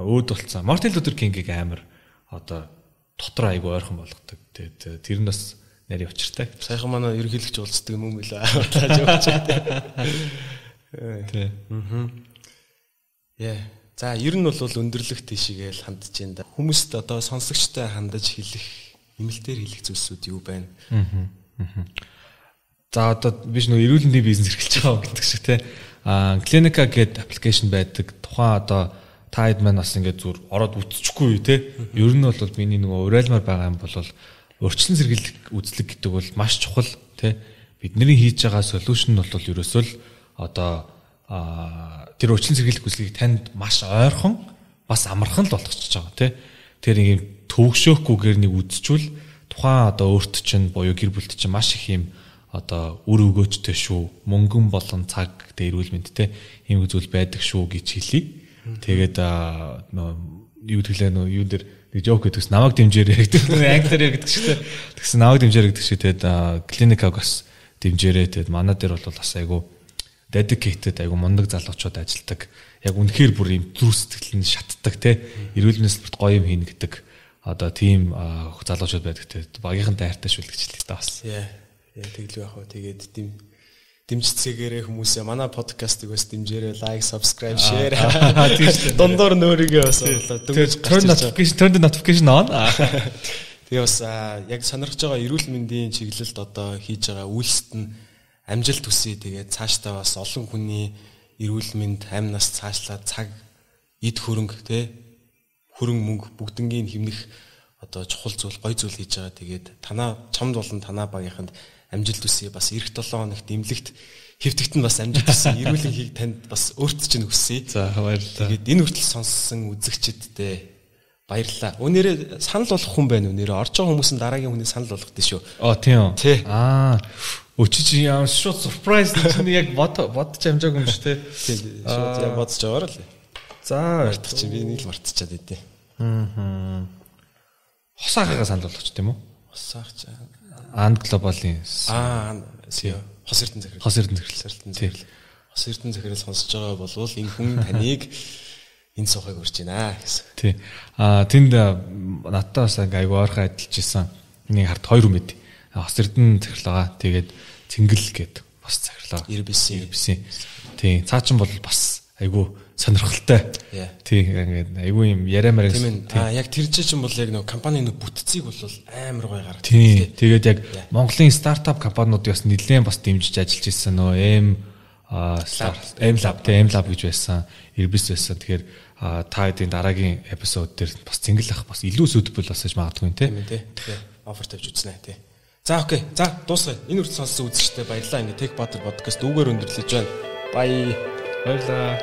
өөд болцсон. Мартин Лютер Кингийг амар одоо дотор айгу ойрхон болгодог. Тэгээд тэр нь бас нарийн учиртай. Сайхан манай ерөнхийлөгч уулздаг юм билээ. Тааж явж байгаа. Тий. Яа. За ер нь бол өндөрлөх тийшээгээл хандж байна да. Хүмүүст одоо сонсогчтой хандаж хэлэх, нэмэлтээр хэлэх зүйлсүүд юу байна? За одоо биш нөө эрүүл мэндийн бизнес эрхэлж байгаа гэдэг шиг те. Clinica гэдэг аппликейшн байдаг. Тухайн одоо та хэд маань бас ингээд зүр ороод үтчихгүй те. Ер нь бол миний нөгөө урайлмаар байгаа юм бол өрчлөн сэргийлэх үзлэг гэдэг бол маш чухал те. Бидний хийж байгаа солиушн нь бол ерөөсөө л одоо тэр өрчлөн сэргийлэх үзлэгийг танд маш ойрхон бас амархан л болгочихж байгаа тий. Тэр ийм төвөгшөөхгүйгээр нэг үзчихвэл тухайн одоо өөрт чинь буюу гэр бүлт чинь маш их юм одоо үр өгөөжтэй шүү. Мөнгөн болон цаг эрүүл мэнд тий. Ийм зүйл байдаг шүү гэж хэлье. Тэгээд юу төлөө нөө юу дээр нэг жоок гэдэгс намайг дэмжээрэй гэдэг. Англиар гэдэг шүү дээ. Тэгсэн намайг дэмжээрэй гэдэг шүү. Тэгээд клиникаг бас дэмжээрэй. Тэгээд манай дээр бол бас айгу dedicated айгу мундаг залуучууд ажилладаг. Яг үнэхээр бүр юм зүрх сэтгэл нь шатдаг те. Эрүүл мэндийн салбарт гоё юм хийнэ гэдэг одоо тийм залуучууд байдаг те. Багийнхан дайртай шүлгэж л та бас. Яа. Тэглүү яах вэ? Тэгээд дэмжцгээгээрээ хүмүүсээ манай подкастыг бас дэмжээрэй, лайк, subscribe, share. Дундуур нөөрийгөө бас оруулаад turn notification on. Тэгээ бас яг сонирхож байгаа эрүүл мэндийн чиглэлд одоо хийж байгаа үйлсэд нь амжилт хүсье. Тэгээд цаашдаа бас олон хүний эрүүл мэнд, амь нас цаашлаад цаг, эд хөрөнгө те хөрөнгө мөнгө бүгднгийн хэмнэх одоо чухал зүйл, гоё зүйл хийж байгаа. Тэгээд чамд болон танаа багийнханд амжилт хүсье. Бас эх 7 хоногт эмнэлэгт хэвтэгт нь бас амжилт хүсье. Эрүүл хийг танд бас өөрт чинь хүсье. За баярлалаа. Тэгээд энэ хүртэл сонссон үзэгчдэдээ баярлалаа. Өнөөдөр санал болгох хүн байна. Өнөөдөр орж байгаа хүмүүс нь дараагийн хүнийг санал болгох дээ шүү. Тийм. Өчиж яам шууд surprise чинь яг бодож амжаагүй юм шүү те. Тийм. Шууд яг бодож байгаа л. За мартах чинь би нэг л мартчихад байдیں۔ Хосаагаа санал болгоч тийм үү? Хосаах чаа. Анд глобалын Хос Эрдэнэ захирал. Хос Эрдэнэ захирал. Хос Эрдэнэ захирал сонсож байгаа болвол энэ хүн таныг энэ сухыг урьж байна гэсэн. Тий. Тэнд надтай бас айгу ойрхон адилж исэн. Нэг харт хоёр хүн байд. Хос Эрдэнэ захирал байгаа. Тэгээд Цэнгэл гээд бас захирлаа. Ирбисэн. Тий. Цаа чин бол бас айгу сонирхолтой. Тий. Ингээд айгу юм яриамаар. Яг тэр чинь бол яг нэг компани нэг бүтцийг бол амар гоё гаргав. Тий. Тэгээд яг Монголын стартап компаниуд бас нэлээд бас дэмжиж ажиллаж ирсэн нөө M-Lab гэж байсан. Ирбис байсан. Тэгэхээр та хэдийн дараагийн эпизод дээр бас Цэнгэл ах бас илүү suitable бас гэж магадгүй тийм тий. Офер тавьж үзнэ тий. За окей. За дуусгая. Энэ үрд сонссон үзэгчтэй баярлалаа. Ингээ Tech Butter podcast дүүгээр өндөрлөж байна. Баярлалаа.